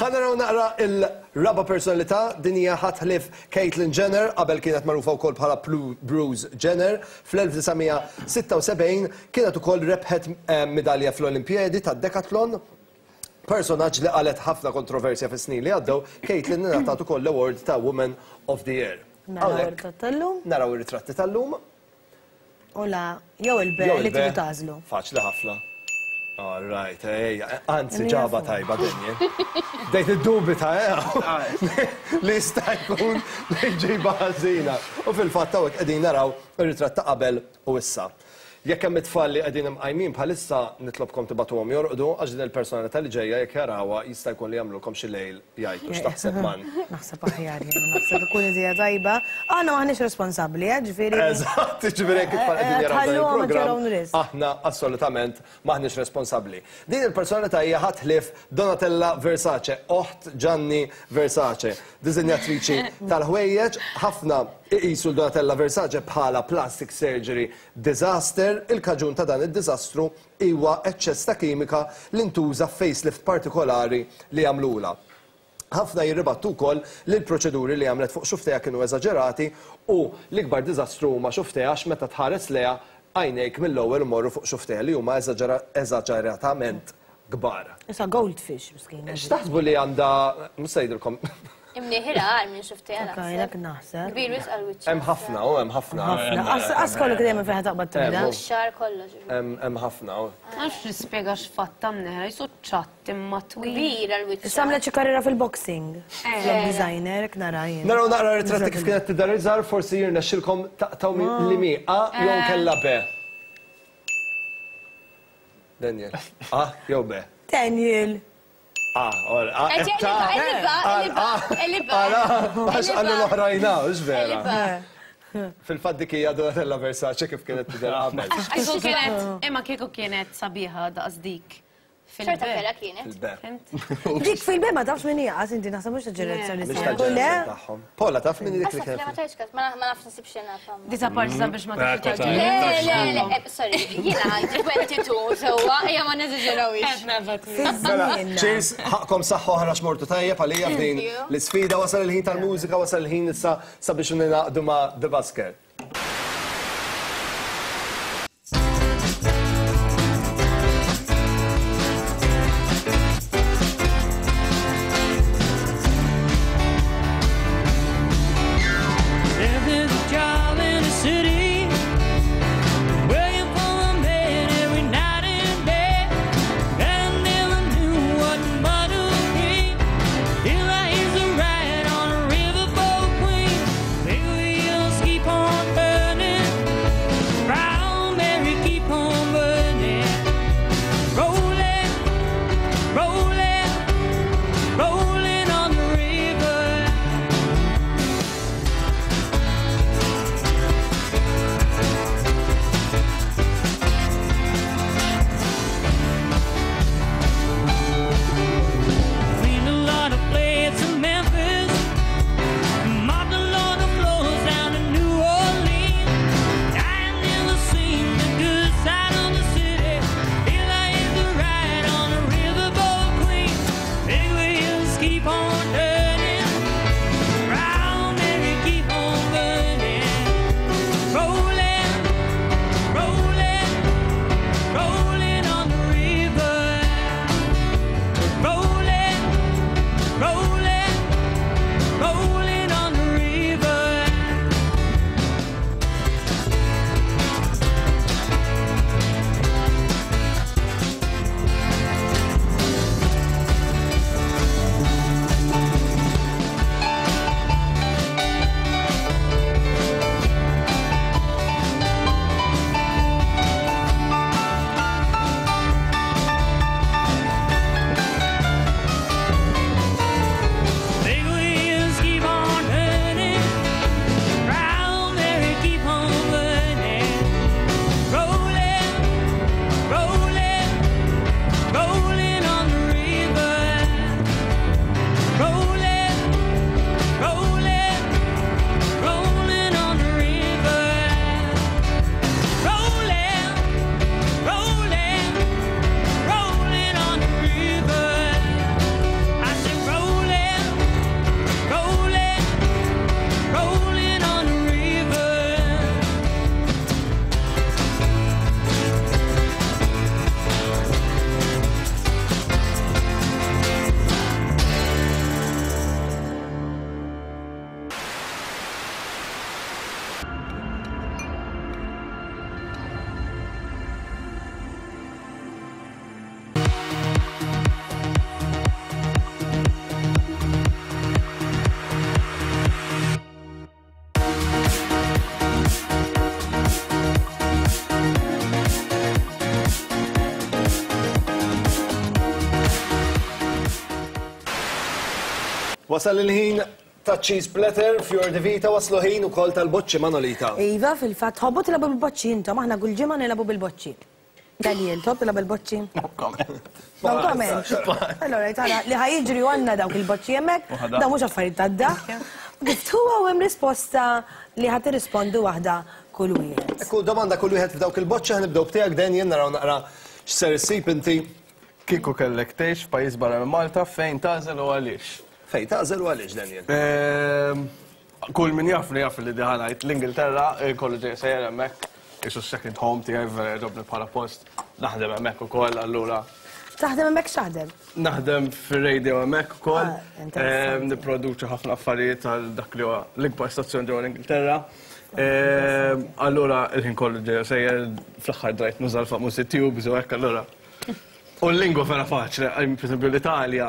Ħa naraw naqra il-raba personalità, din hija ħadd ħlief Caitlyn Jenner, qabel kienet magħrufa wkoll bħala Bruce Jenner. Fl-elf disa' mija sitta u sebgħin kienet ukoll rebħet, eh, medalja fl-Olimpjadi tad-Decathlon. Personaġġ li qalet ħafna kontroversja fis-snin li għaddew, Caitlyn ingħatat ukoll l-award ta' Woman of the Year. Naraw Hawnhekk ir-ritratt tal-lum. Naraw ir-ritratti tal-lum. U la, jew il-be Jew li il-be. tridu tagħżlu. Faċli ħafna. All right, ejja, anzi ġaba tajba Daniel. Dejt id-dubita, eh? Li jista' jkun li ġiba ħażina. U fil-fatt hawnhekk qegħdin naraw ir-ritratt ta' qabel u issa. Jekk hemm it-tfal li qegħdin imqajmin bħalissa nitlobkom tibatuhom jorqdu għax din il-personalità li ġejja jekk jarawha jista' jkun li jagħmlulkom xi lejl jgħidu x'taħseb man. Naħseb aħjar jien, naħseb ikun idea tajba. Aħna m'aħniex responsabbli, eh, ġifieri. Eżatt, ġifieri jekk it-tfal qegħdin jaraw dan il-programm, aħna assolutament m'aħniex responsabbli. Din il-personalità hija ħadd ħlief Donatella Versace, oħt Gianni Versace, diżinjatriċi tal-ħwejjeġ, ħafna iqisu Donatella Versace bħala plastic surgery disaster. Il-kaġun ta' dan id-diżastru huwa eċċess ta' kimika li ntuża facelift partikolari li għamlula. Ħafna jirribattu wkoll li l-proċeduri li għamlet fuq xuftejha kienu eżaġerati u l-ikbar diżastru huma xuftejha għax meta tħares lejha għajnejk mill-ewwel imorru fuq xuftejha li huma eżaġeratament kbar. Issa goldfish miskin. X'taħsbu li għandha, mhux se jgħidilkom. Imniħira għal minn xuftejha naħseb. Naħseb. Kbir wisq għal wiċċ. Hemm ħafna, u hemm ħafna. Qas kollu dejjem fejn taqbad tibda. Xar kollox. Hemm ħafna. Ma nafx nispjega x'fatta mneħra, jisu ċatt imma twil. Kbir għal wiċċ. Issa għamlet xi karriera fil-boxing. Flok designer, hekk nara jien. Naraw naqra ritratti kif kienet tidher iżgħar, forsi jirnexxilkom taqtaw li mi A jew kellha B. Daniel. A jew B. Daniel. Ah, ora, ah, għax għallu l-oħrajna, mhux vera. Fil-fatt dik hija Donatella Versace kif kienet tidher qabel. Kieku kienet, imma kieku kienet sabiħa daqs dik. Xorta vera kienet. Dik fil-be ma tafx min hija, qas inti naħseb mhux ta' ġenerazzjoni tagħhom. Paula taf min dik li kienet. Ma tafx ma nafx nsib xi naf. Disa parti sabiex ma tafx. Le, le, le, sorry, jiena għandi twenty-two sewwa, ejja ma neżaġerawix. Mela, cheers, ħaqkom saħħa oħra x'mortu tajjeb għalija f'din l-isfida, wasal il-ħin tal-mużika, wasal il-ħin issa sabiex ningħaqdu ma' The Busker. Keep on burning. Wasal il-ħin ta' cheese platter, Fior di Vita, waslu ħin ukoll tal-boċċi Manolita. Iva, fil-fatt, tħobbu tilagħbu bil-boċċi intom, aħna kull ġimgħa nilagħbu bil-boċċi. Daniel, tħobb tilgħab bil-boċċi? No comment. No comment. Allora, tara, li ħa jiġri għandna dawk il-boċċi hemmhekk, dawn mhux affarijiet tad-daħk. Kif huwa hemm risposta li ħa tirrispondu waħda kull wieħed. Ekku domanda kull wieħed f'dawk il-boċċi, ħa nibdew b'tiegħek Daniel, naraw naqra x'ser issib inti. Kieku kellek tgħix f'pajjiż barra minn Malta, fejn tagħżel u għaliex? Fejn tagħżel u għaliex, Daniel? Ehm, Kull min jaf li jaf li diħa ngħid l-Ingilterra, kollu ġej sejjer hemmhekk, isu second home tiegħi vera jogħġobni bħala post, naħdem hemmhekk ukoll allura. Taħdem hemmhekk x'taħdem? Naħdem fir-radio hemmhekk ukoll. Ah, interessanti. Ehm, Nipproduċi ħafna affarijiet għal dak li huwa l-ikbar stazzjon ġewwa l-Ingilterra. Ehm, Allura il-ħin kollu ġej sejjer fl-aħħar drajt nuża l-famużi tubes u hekk allura. U l-lingwa vera faċli, per esempio l-Italja,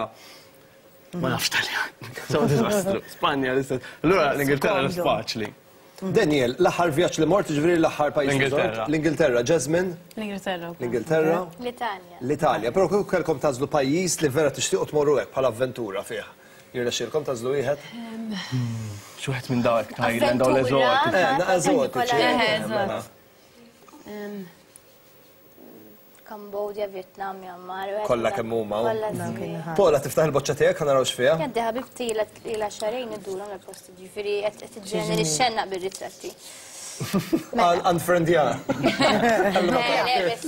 ma nafx Taljan. So diżastru. Spanja l-istess. Allura l-Ingilterra Komdu. faċli. Daniel, l-aħħar vjaġġ li mort, ġifieri l-aħħar pajjiż li żort? L-Ingilterra. L-Ingilterra. Jasmine? L-Ingilterra. L-Ingilterra. L-Italja. L-Italja. Però kieku kellkom tagħżlu pajjiż li vera tixtiequ tmorru hekk bħala avventura fih. Jirnexxielkom tagħżlu wieħed? Xi wieħed minn dawk Thailand dawn l-eżotiċi. Eh, na eżotiċi. Eh, eżatt. Em, Cambodia, Vietnam, Myanmar. Kollha kemm huma. Kollha sbieħ. Pola, tiftaħ il-boċċa tiegħek ħa naraw x'fiha. Għaddi ħabibti ila xahrejn idurhom l-posti, ġifieri qed tiġġeneri xenna bir-ritratti. Unfriendja. Le, le, best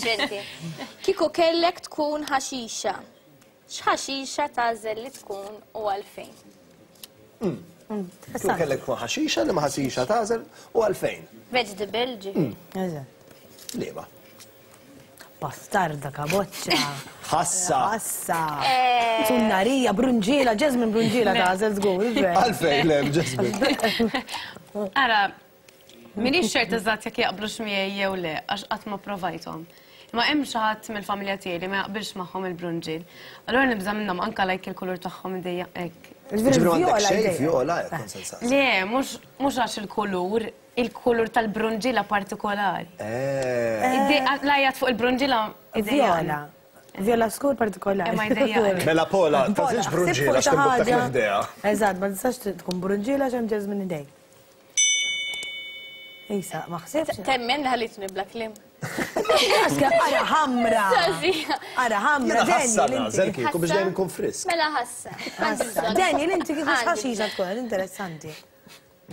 Kieku kellek tkun ħaxixa. X'ħaxixa tagħżel li tkun u għalfejn? Kieku kellek tkun ħaxixa li ma ħaxixa tagħżel u għalfejn. Vegetable, ġifieri. Liema. Bastarda, kaboċċa. Ħassa. Ħassa. Tunnarija, brunġiela, Jasmine brunġiela tagħżel żgur. Għalfejn, le, Jasmine. Ara, minix ċert eżatt jekk jaqblux miegħi jew le, għax qatt ma provajthom. Ma hemm xi ħadd mill-familja tiegħi li ma jaqbilx magħhom il-brunġiel. Allura nibża' minnhom anke like il-kulur tagħhom idejja hekk. Ġifieri m'għandek xejn vjola hekk konsensat. Le, mhux mhux għax il-kulur, il-kulur tal-brunġiela partikolari. Lajjat fuq il-brunġiela idejjaqni. Viola. Viola skur partikolari. Imma jdejjaqni. Mela Pola, tagħżilx brunġiela ħsib fuq xi x'timbuttak ħaġa. l-idea. Eżatt, ma tistax tkun brunġiela x'hemm Jasmine idej. Isa, ma ħsibx. Temmen li ħallitni bla kliem. Aska, ara ħamra. Ara ħamra, Jiena ħassa Daniel, nagħżel inti. kieku biex dejjem inkun frisk. Mela ħassa. Għandi bżonn. Daniel, inti kieku Għandi x'ħaxixa tkun, interessanti.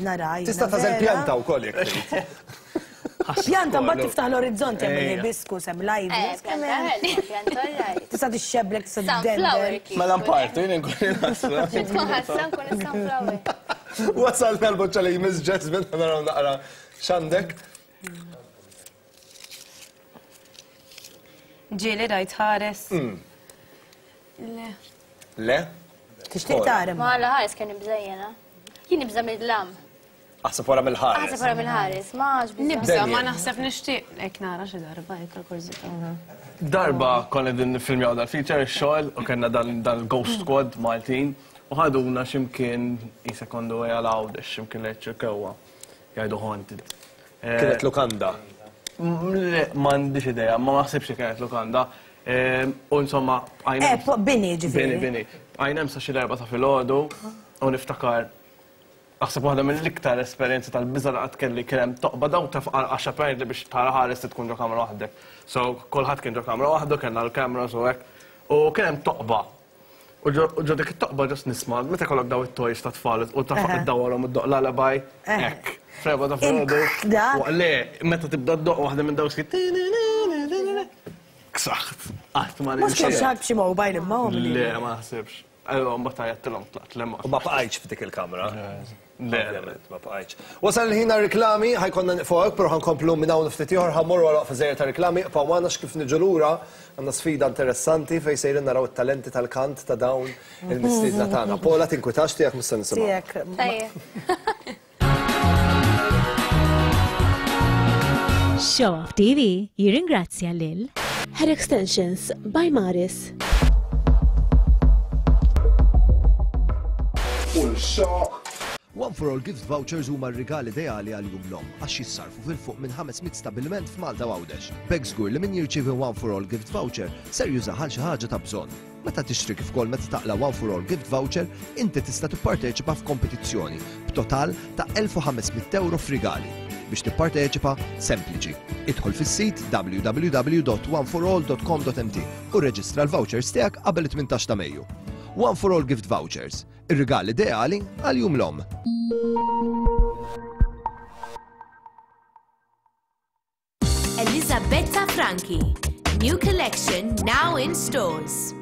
Nara, jiena Tista' tagħżel vera. pjanta wkoll jekk trid. Pjanta mbagħad tiftaħ l-orizzonti hemm Ejja. il-hibiscus, hemm l-ivy. Eh, pjanta ħelwa, pjanta alright. Tista' tixxeblek, tista' Sunflower tiddendel. kieku. Mela mpartu, jien inkun ħassa. Tkun ħassa nkun is-sunflower. Wasalna l-boċċa li jmiss Jasmine, ħa naraw naqra x'għandek. Ġieli rajt ħares. Le. Le? Tixtieq tara. Ma la ħares kien nibżejjena. Jien nibża' mid-dlam. Aħseb wara mill-ħares. Aħseb wara mill-ħares, ma għax biża'. Nibża' ma Daniel. naħseb nixtieq hekk nara xi darba hekk għal-kurżità. Darba konna din nifilmjaw dal-feature ix-xogħol u kellna dan dan-Ghost Squad Maltin u ħaduna x'imkien isa kondu għal Għawdex x'imkien li ċirkewwa jgħidu haunted. Eh, Kienet lukanda. m- Le, m'għandix idea, ma naħsibx li kienet lukanda. Eh, U insomma, bqajna Eh, po- bini ġifieri. Bini, bini. Bqajna hemm sa xi l-erba' ta' filgħodu u niftakar Naħseb waħda mill-iktar esperjenzi tal-biża' li qatt kelli kien hemm toqba daw taf għax apparently biex tara ħares tkun ġo kamra waħdek. So kulħadd kien ġo kamra waħdu, kellna l-cameras u hekk. U kien hemm toqba. U ġo u ġo dik it-toqba ġast nisma' meta kollok daw it-toys ta' tfal u taf Eħe. iddawwarhom id-doq lullaby. Eħe. Hekk. Freba ta' filgħodu. dak. U Le, meta tibda ddoq waħda minn dawk skit. Ksaħt. Qatt ma Mhux kien xi ħadd b'xi mobile imma hu Le, ma naħsibx. Allora, mbagħad għajjattilhom tlaqt le ma. U ma bqajtx f'dik il-kamra. Le, Ovvjament, ma bqajtx. Wasal il-ħin għar-reklami, ħa jkollna nieqfu hawnhekk, però ħa nkomplu minn hawn ftit ieħor, ħa mmorru għal waqfa żgħira ta' reklami, ibqgħu magħna kif niġu lura għandna sfida interessanti fejn sejrin naraw it-talenti tal-kant ta' dawn il-mistiedna tagħna. Pola tinkwitax tiegħek mhux se nisimgħu. Tiegħek. Tajjeb. Show Off T V jirringrazzja lil Hair Extensions by Maris. U l-xaq. One for All Gift Vouchers huma r-rigal ideali għal Jum l-Omm għax jissarfu fil-fuq minn ħames mitt stabbiliment f'Malta u Għawdex. B'hekk żgur li min jirċievi One for All Gift Voucher ser jużah għal xi ħaġa ta' bżonn. Meta tixtri kif ukoll meta taqla' One for All Gift Voucher, inti tista' tipparteċipa f'kompetizzjoni b'total ta' elf u ħames mitt euro f'rigali. Biex tipparteċipa, sempliċi. Idħol fis-sit w w w dot one for all dot com dot m t u rreġistra l-vouchers tiegħek qabel it-tmintax ta' Mejju. One for All Gift Vouchers, ir-rigal ideali għal Jum l-Omm. Elisabetta Franchi, new collection now in stores.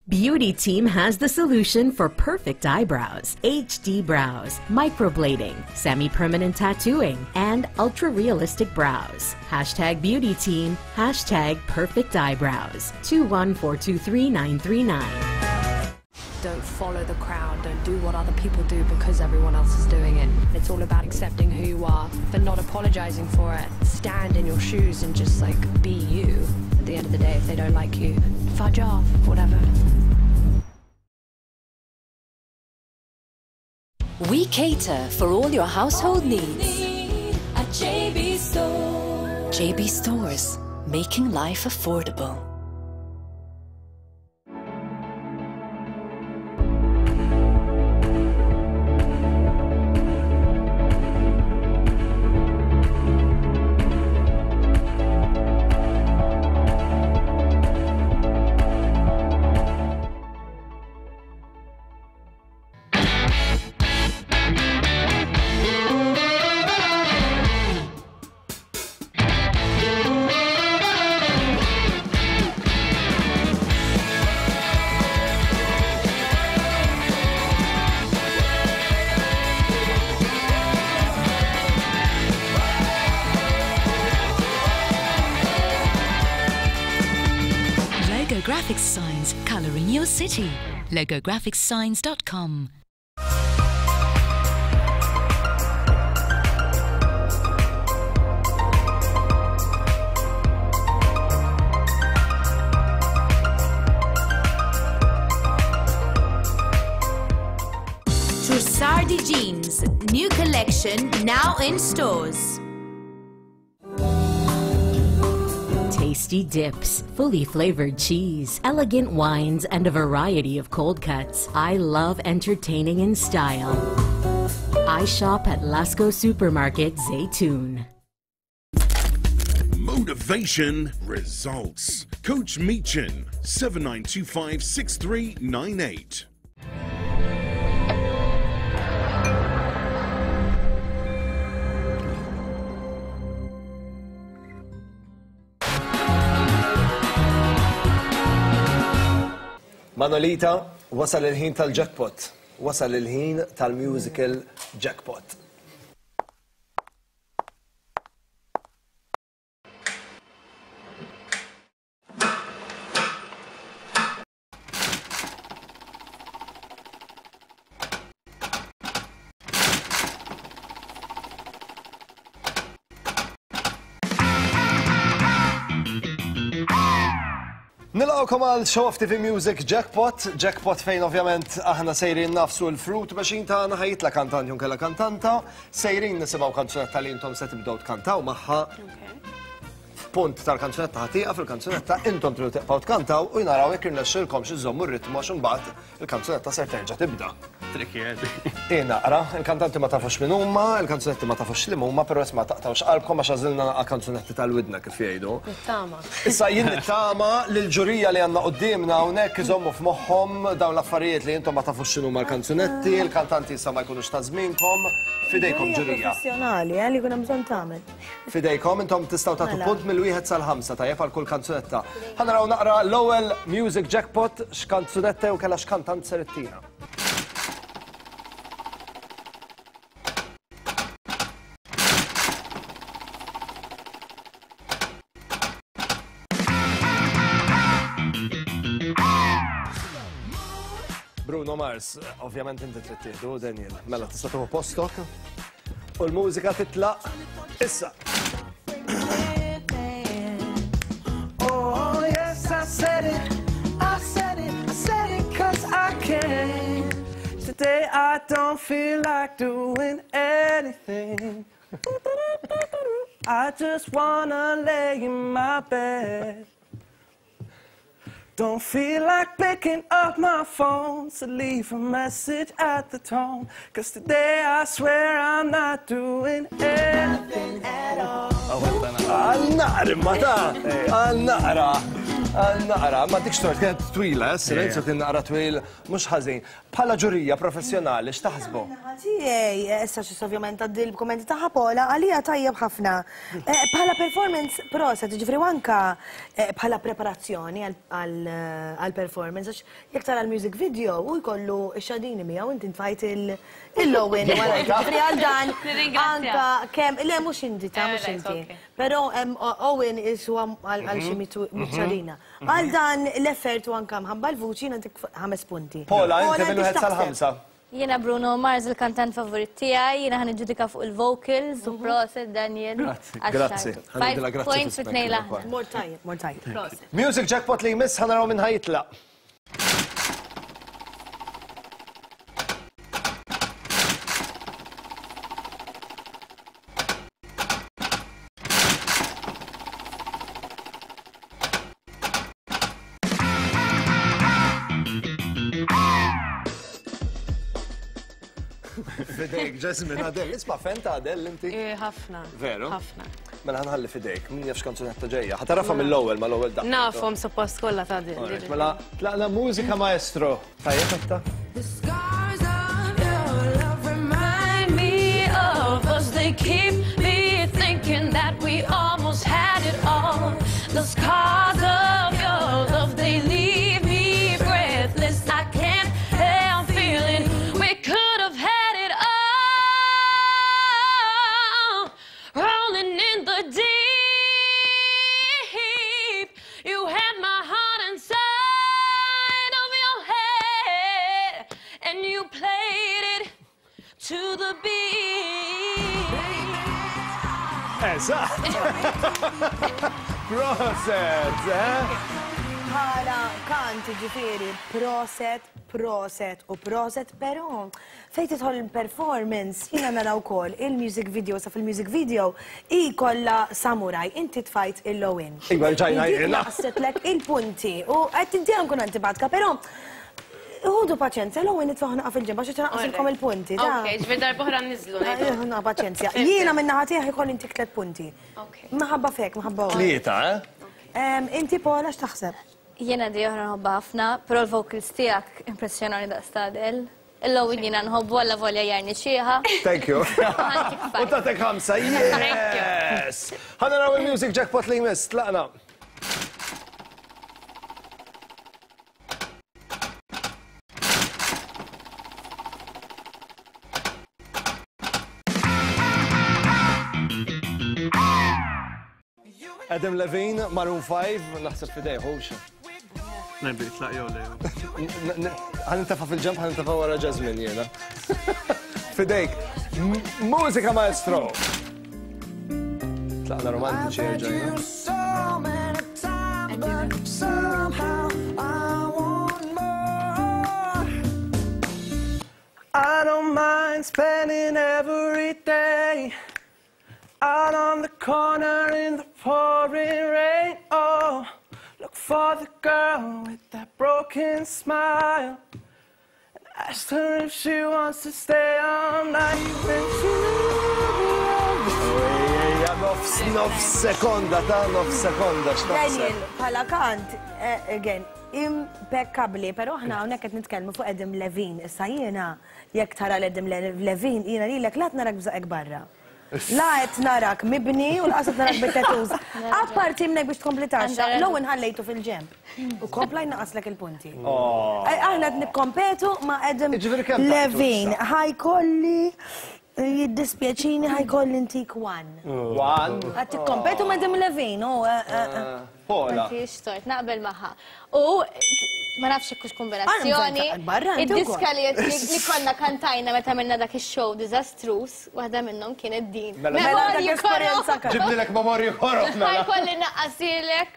Beauty Team has the solution for perfect eyebrows, H D brows, microblading, semi-permanent tattooing, and ultra-realistic brows. Hashtag Beauty Team, hashtag perfect eyebrows. two one four two three nine three nine. Don't follow the crowd, don't do what other people do because everyone else is doing it. It's all about accepting who you are, but not apologizing for it. Stand in your shoes and just like be you. At the end of the day, if they don't like you, fudge off, whatever. We cater for all your household needs. At J B Stores. J B Stores, making life affordable. Graphics signs coloring your city. logo graphics signs dot com. Trussardi Jeans, new collection now in stores. Tasty dips, fully flavored cheese, elegant wines, and a variety of cold cuts. I love entertaining in style. I shop at Lasco Supermarket, Zaytoun. Motivation results. Coach Meechan, seven nine two five six three nine eight. Manolita, wasal il-ħin tal-jackpot. Wasal il-ħin tal-musical jackpot. Nilqgħukom għal Show Off T V Music Jackpot, Jackpot fejn ovvjament aħna sejrin nafsu l-fruit machine tagħna, ħajjitla kantant jew kellha kantanta, sejrin nisimgħu kanzunetta li intom se tibdew tkantaw magħha. F'punt tal-kanzunetta ħatieqa fil-kanzunetta intom tridu tibqgħu tkantaw u jnaraw jekk irnexxilkom xi żommu r-ritmu għax imbagħad il-kanzunetta ser terġa' tibda. Tricky. Naqra, il-kantanti ma tafux min huma, il-kanzunetti ma tafux li huma, però isma' taqtawx qalbkom għax għażilna naqa' kanzunetti tal-widna kif jgħidu. Nittama. Issa jien nittama li l-ġurija li għandna quddiemna hawnhekk iżommu f'moħħhom dawn l-affarijiet li intom ma tafux x'inhuma l-kanzunetti, il-kantanti issa ma jkunux ta' żmienkom, fidejkom ġurija. Professjonali, eh, li jkun hemm bżonn tagħmel. Fidejkom intom tistgħu tagħtu punt mill-wieħed sal-ħamsa tajjeb għal kull kanzunetta. Ħa naraw naqra l-ewwel music jackpot x'kanzunetta jew kellha x'kantant ser ittina. Bruno Mars, ovvjament inti trid tieħdu, Daniel. Mela tista' tieħu postok. U l-mużika titlaq issa. Oh yes, I said it. I said it. I said it 'cause I can. Today I don't feel like doing anything. I just wanna lay in my bed. Don't feel like picking up my phone, so leave a message at the tone. Cause today I swear I'm not doing anything at all. Għal-naqra, ma ta' għal-naqra, għal-naqra, ma dik xtort kienet twila, silenzju kien naqra twil, mhux ħażin. Bħala ġurija professjonali, x'taħsbu? Tiegħi, issa xi ovvjament għaddi l-kummenti ta' Paola, għalija tajjeb ħafna. Bħala performance proset, ġifieri anka bħala preparazzjoni għal-performance, għax jekk tara l-music video u jkollu x-xadini miegħu inti tfajt il-Owen wara, ġifieri għal dan anka kemm, le mhux inti ta' mhux inti. Però Owen iswa għal xi mitxadina. Għal dan l-effort u anka mħabba l-vuċi nagħtik ħames punti. Paola, inti minn wieħed sal-ħamsa. Jiena Bruno Mars il-kantant favorit tiegħi, jiena ħa niġġudika fuq il-vocals u proset Daniel. Grazzi, grazzi. Five points fit tnejn l-aħħar. Mor tajjeb, mor tajjeb. Proset. Music jackpot li jmiss ħa naraw minn ħajitlaq. Fidejk, Jasmine, Adele, isma' fenta Adele inti? Ħafna. Veru? Ħafna. Mela ħanħalli fidejk, min jafx kanzunetta ġejja. Ħatarafa mill-ewwel mal-ewwel daqqa. Nafhom suppost kollha ta' Adele. Mela tlaqna mużika maestro. Tajjeb etta? The scars of your love remind me of us. They keep me thinking that we almost had it all. The scars of your love, they leave me breathless. I can't help feeling we could have had it all. Rolling in the deep, you had my heart inside of your head, and you played it to the beat. Eżatt! Proset, eh? Bħala kant ġifieri proset, proset u proset, però fejn tidħol il-performance jiena nara wkoll il-music video sa fil-music video i kollha samurai, inti tfajt il-Owen. Iva, ġajna jiena. Naqsetlek il-punti u qed inti nkun antipatika, però ħudu paċenzja, l-Owen nitfaħ naqa fil-ġemba xi tnaqqasilkom il-punti. Ok, ġifieri darb'oħra niżlu. Ħuna paċenzja. Jiena minn naħa tiegħi jkolli intik tliet punti. Maħabba fek, maħabba. Tlieta, eh? Inti Paola x'taħseb? Jiena di oħra nħobba ħafna, però l-vocals tiegħek impressjonani daqs ta' Adele. Il-Owen jiena nħobbu għalla volja jarni xieħa. Thank you. U tatek ħamsa, yes! Ħa naraw il-music jackpot li jmiss, tlaqna. Adam Levine, Maroon five, naħseb fidej, hux. Nebi, tlaq jew le. Ħa nintafa' fil-ġemp, ħa nintafa' wara Jasmine jiena. Fidejk, mużika maestro. Tlaqna romantiċi erġajna. I don't mind spending every day out on the corner in the pouring rain. Oh, look for the girl with that broken smile and ask her if she wants to stay all night. And Ejja, nofs, nofs sekonda, ta' nofs sekonda, x'taħseb? Daniel, bħala kant, again, impeccabli, però aħna hawnhekk qed nitkellmu fuq Adam Levine. Issa jiena jekk tara l-Adam Levine, jiena lilek la narak bżaqek barra. La qed narak mibni u laqas qed narak bit-tattoos. Apparti minnek biex tkompli taxxa, l-ewwel ħallejtu fil-ġemp. U kompla jnaqaslek il-punti. Aħna qed nikkompetu ma' Adam Levine. Ħajkolli jiddispjaċini ħajkolli ntik one. One? Qed tikkompetu ma' Adam Levine. Paola. M'għandix tort, naqbel magħha. U ma nafx hekk hux kombinazzjoni. Id-diska li konna kantajna meta għamilna dak ix-show diżastruż, waħda minnhom kienet din. Mela Ġibnilek memorji koroh mela. Ħajkolli naqqasilek.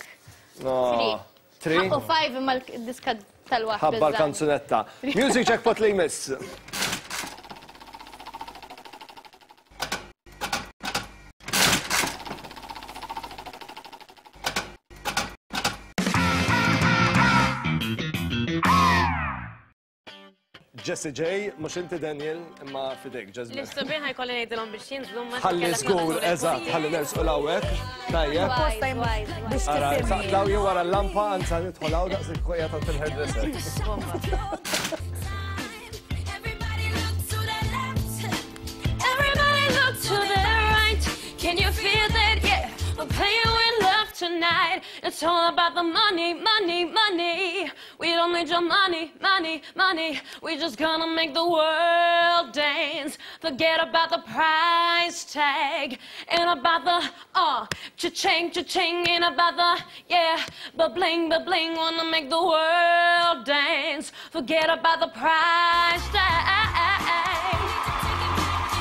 Three. Three? U five imma l-diska tal-waħda. Ħabba l-kanzunetta. Music jackpot li jmiss. Jessie J, mhux inti Daniel, imma fidejk Jasmine. L-istubin ħajkolli ngħidilhom biex jinżlu ma Ħalli żgur, eżatt, ħalli nersqu l-hawnhekk. Tajjeb. Ara, saqtlaw jew wara l-lampa, anza nidħol hawn daqs il-kojja ta' il-hairdresser. Everybody look to the right. Can you feel that? Yeah, we're playing with love tonight. It's all about the money, money, money. We don't need your money, money, money. We're just gonna make the world dance. Forget about the price tag and about the uh, cha-ching, cha-ching, and about the yeah, ba-bling, ba-bling. Wanna make the world dance. Forget about the price tag.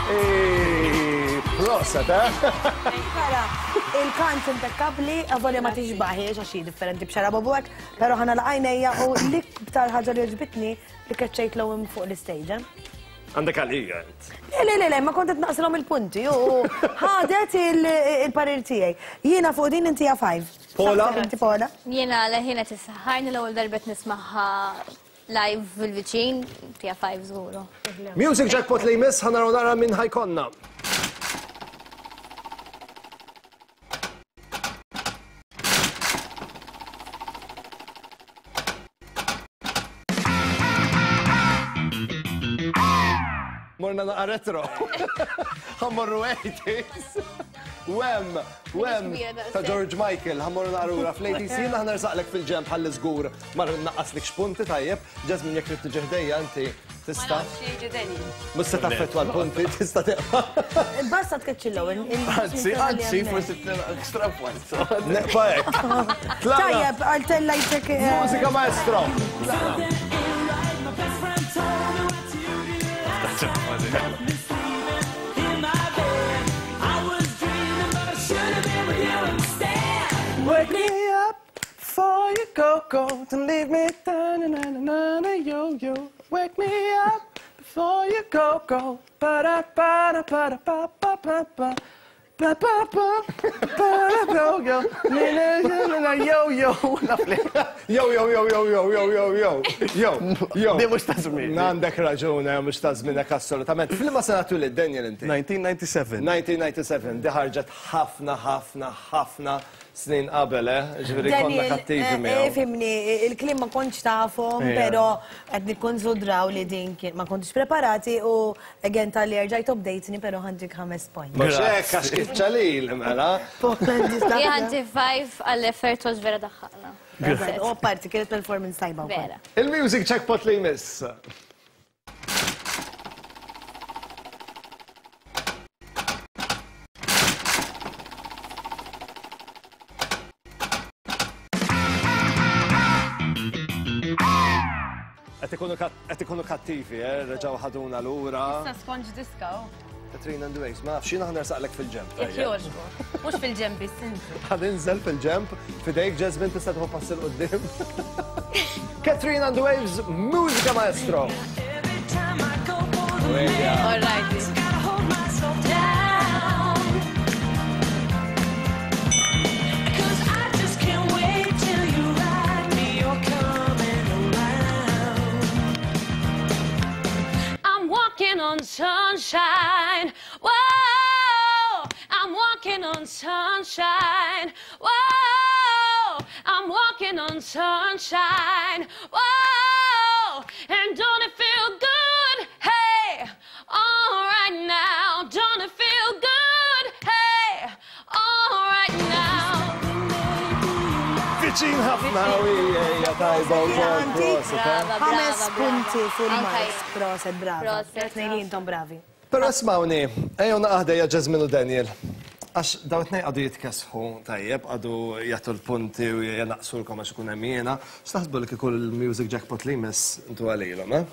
Ej, proset, eh? Ara, il-kant impeccabli, avolja ma tixbaħiex għax hi differenti b'xara bobu hekk, però ħana laqajnejja u l-iktar ħaġa li għoġbitni li keċċejt l fuq l-istage. Għandek għalija int. Le, le, le, le, ma kont qed naqsilhom il-punti u ħadet il-parir tiegħi. Jiena fuq din inti five. Pola? Inti Pola? Jiena leħina tissaħħarni l-ewwel darbet nismaħħa live fil-viċin, tija five żguru. Music Jackpot li jmiss, ħa naraw nara minn ħajkonna. Morna naqa retro. Ħammorru eighties. Wem, Wem, ta' George Michael, ħammorru naqra fl-eighties. Jiena ħa nersaqlek fil-ġemp ħalli żgur mar naqqaslek x'punti tajjeb. Jasmine jekk trid tiġi ħdejja inti tista'. Mhux se taffettwa l-punti, tista' teqpa'. Basta tkeċċi l-ewwel. Anzi, anzi, forsi extra points. Neqpa' hekk. Tajjeb, għal-tellajtek. Mużika maestro. Wake me up before you go, go. Don't leave me down, na na na na, yo yo. Wake me up before you go, go. Ba da ba da ba da ba ba ba ba. Ba ba ba ba da go yo. Na na na na yo yo. Lovely. Yo yo yo yo yo yo yo yo. Yo yo. Di mhux ta' żmien. Għandek raġune, mhux ta' żmienek assolutament. F'liema sena twilid Daniel inti? nineteen ninety-seven. nineteen ninety-seven, di ħarġet ħafna ħafna ħafna snin qabel, eh? Ġifieri konna kattivi miegħu. Fimni, il-kliem ma kontx tafhom, però qed nikkonsidraw li din kien ma kontx preparati u again tal-li erġajt update-ni, però ħandik ħames points. Mhux hekk għax kiċċalil mela. Jien ħanti five għall-effort was vera daħħaqna. U parti kienet performance tajba wkoll. Vera. Il-music jackpot li jmiss. Qed ikunu kattivi, eh? Reġgħu ħaduna lura. Issa skonġ diska. Katrina and the Waves, ma nafx, jiena ħa nersaqlek fil-ġemp. Jekk jogħġbok. Mhux fil-ġemp biss inti. Ħa ninżel fil-ġemp, fidejk Jasmine tista' tieħu pass il quddiem. Katrina and the Waves, mużika maestro. All right. Walking on sunshine, whoa, I'm walking on sunshine, whoa, I'm walking on sunshine, whoa, and don't it feel good, hey, all right now, don't it feel good, hey, all right now. Viċin ħafna u hija tajba wkoll proset. Ħames punti full marks, proset, brava. Tnejn li intom bravi. Però ismawni, ejjew naqaħdejja Jasmine u Daniel. Għax dawn it-tnejn għadu jitkesħu tajjeb, għadu jagħtu l-punti u jnaqsulkom għax ikun hemm jiena. X'taħsbu li kieku l-music jackpot li jmiss intu għalilhom, eh?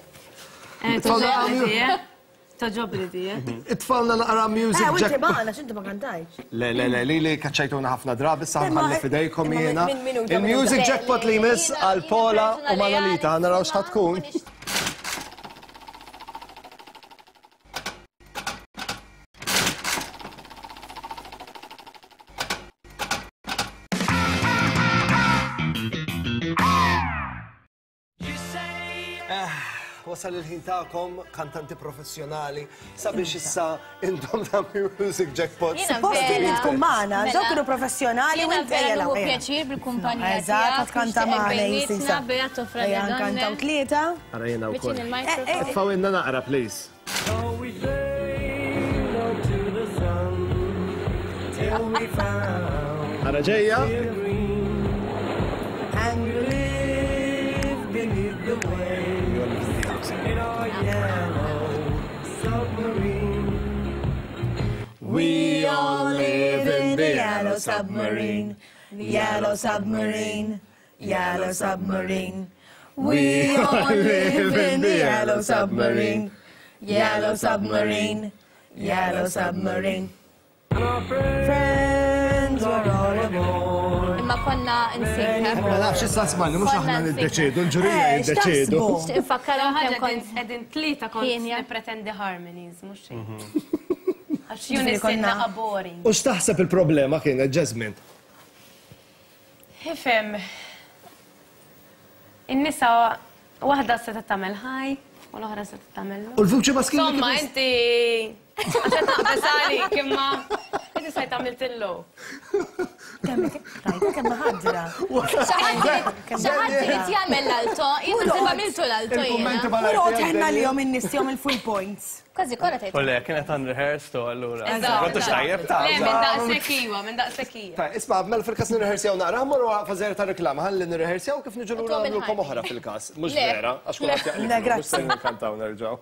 Toġobni di, eh? Itfalna naqra music Eh, u inti jackpot. magħna, x'inti ma kantajx. Le, le, le, li li kaċċajtuna ħafna drabi, issa ħalli fidejkom jiena. minn minuta, Il-music minuta. jackpot li jmiss għal Pola u Manolita, ħa naraw x'ħa tkun. Wasal il-ħin tagħkom, kantanti professjonali, sabiex issa intom ta' Music Jackpot. Supposti li tkun magħna, Mela. dawn kienu professjonali u Jiena inti vera ejja nieħu ejja. pjaċir bil-kumpanija Eżatt, tiegħek, tkanta nixtieqek magħna bejnietna, Sisa. Beat toffra Ejja, li nkantaw donna. tlieta. Ara jiena wkoll. Viċin il-microphone. Itfgħu naqra, please. Ara ġejja. And we live beneath the waves in our yellow submarine. We all live in the yellow submarine, yellow submarine, yellow submarine. We all live in the yellow submarine, yellow submarine, yellow submarine. Friends were all aboard. Imma konna nsejħ. Ma nafx issa smajni, mhux aħna niddeċiedu, l-ġurija Eh, jiddeċiedu. x'taħsbu? Infakkarhom kemm kont. Edin tlieta kont Ħienja. nippretendi harmonies, mhux xejn. Għax Ġifieri unison konna- naqa boring. U x'taħseb il-problema kienet, Jasmine? Ifhem. In-nisa waħda se tagħmel high u l-oħra se tagħmel low. U l-vuċi maskili Insomma, kif- inti għax qed naqbeż għalik imma inti sejt għamilt il-low. Rajta kemm ħadra. Xaħat irid jagħmel l-alto, jien naħseb għamiltu l-alto Il-kummenti jiena. malajr Pero tiegħek, tħenna li Daniel? jom in-nies jom il-full points. Kważi kollha tgħid. U le, kienet unrehearsed u allura. Eżatt. Kontux tajjeb ta' Le, minn daqshekk iwa, minn daqshekk hija. Tajb, isma' mela fil-każ nirrehersjaw naqra, mmorru fażer ta' reklama, ħalli nirrehersjaw kif niġu lura Tom nagħmlulkom il-ħajt. oħra fil-każ. Mhux Le. vera, għax kulħadd jaqleb. Le, grazzi. Mhux se nkantaw nerġgħu.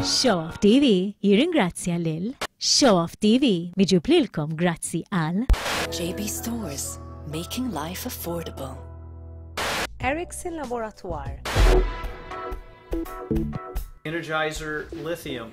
Show Off T V jirringrazzja lil Show Off T V miġjub lilkom grazzi għal J B Stores, making life affordable. Ericsson Laboratoire. Energizer Lithium.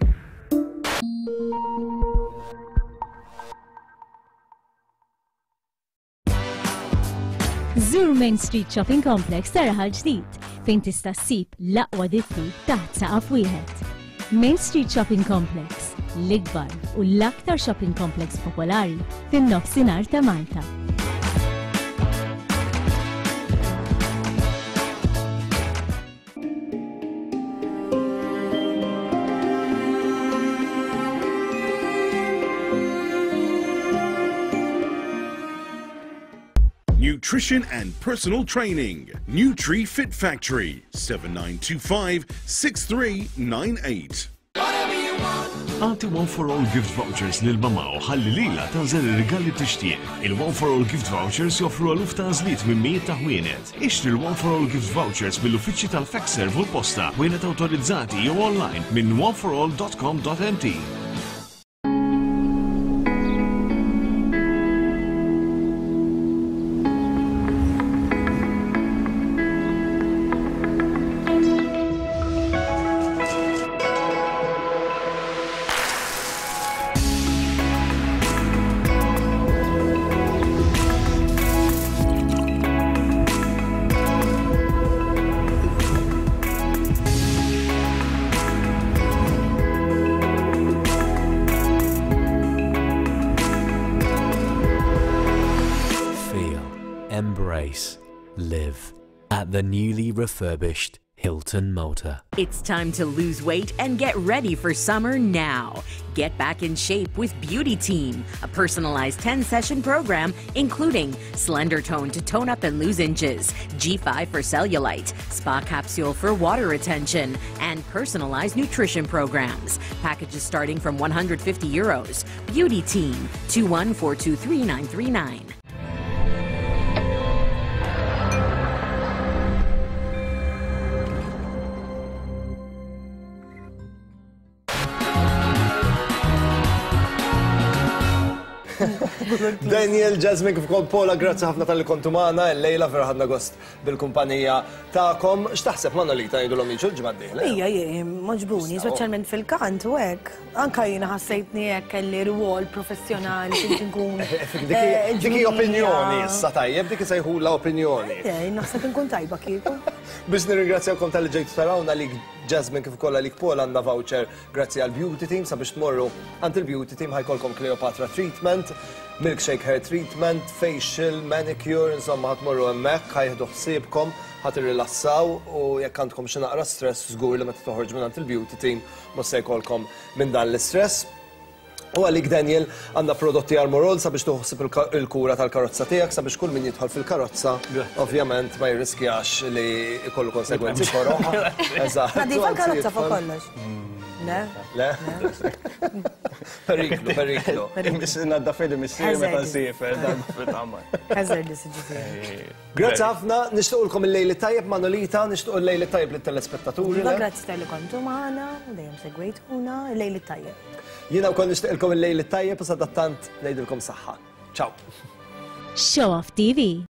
Zur Main Street Shopping Complex ta' Raħal Ġdid fejn tista' ssib l-aqwa ditti taħt saqaf wieħed. Main Street Shopping Complex, l-ikbar u l-aktar shopping complex popolari fin-nofsinhar ta' Malta. Nutrition and personal training. Nutri Fit Factory, seven nine two five six three nine eight. Agħti One for All gift vouchers lil mama u ħalli lila tagħżel ir-rigal li tixtieq. Il-One for All gift vouchers joffru eluf ta' għażliet minn mijiet ta' ħwienet. Ixtri l-One for All gift vouchers mill-uffiċċji tal-Fexserv u l-posta, ħwienet awtorizzati jew online minn oneforall dot com dot M T. Feel, embrace, live at the newly refurbished Hilton Malta. It's time to lose weight and get ready for summer now. Get back in shape with Beauty Team, a personalized ten session program including Slender Tone to tone up and lose inches, G five for cellulite, Spa Capsule for water retention, and personalized nutrition programs. Packages starting from one hundred fifty euros. Beauty Team, two one four two three nine three nine. Daniel, Jasmine, kif ukoll Paula, grazzi ħafna talli kontu magħna, illejla vera ħadna gost bil-kumpanija tagħkom. X'taħseb Manolita ngħidulhom jiġu l-ġimgħa d-dieħla? Ija, ija, għoġbuni, speċjalment fil-kant u hekk. Anka jiena ħassejtni hekk kelli rwol professjonali kif nkun. Dik dik hi opinjoni issa tajjeb, dik isejħula opinjoni. Eh, naħseb inkun tajba kieku. Biex nirringrazzjawkom talli ġejtu tarawna li Jasmine kif ukoll għalik Paul għandna voucher grazzi għal Beauty Team sabiex tmorru għand il-Beauty Team ħa jkollkom Cleopatra treatment, milkshake hair treatment, facial, manicure, insomma ħa tmorru hemmhekk, ħa jieħdu ħsiebkom, ħa tirrilassaw u jekk għandkom xi naqra stress żgur li meta toħorġu minn għand il-Beauty Team mhux se jkollkom minn dan l-istress. U għalik Daniel għandna prodotti Armorol sabiex tuħsib il-kura tal-karozza tiegħek sabiex kull min jidħol fil-karozza ovvjament ma jirriskjax li jkollu konsegwenzi koroh. Eżatt. Nadifa l-karozza fuq kollox. Le? Le? Periklu, periklu. Naddaf missieri meta nsiefer, dan fil-qamar. Hazardous ġifieri. Grazzi ħafna, nixtiequlkom il-lejl tajjeb Manolita, nixtiequ il-lejl tajjeb lit-telespettaturi. Iva, grazzi talli kontu magħna, u dejjem segwejtuna, il-lejl tajjeb. Jiena wkoll nixtieqilkom il-lejl tajjeb u sadattant ngħidilkom saħħa. Ciao. Show Off TV.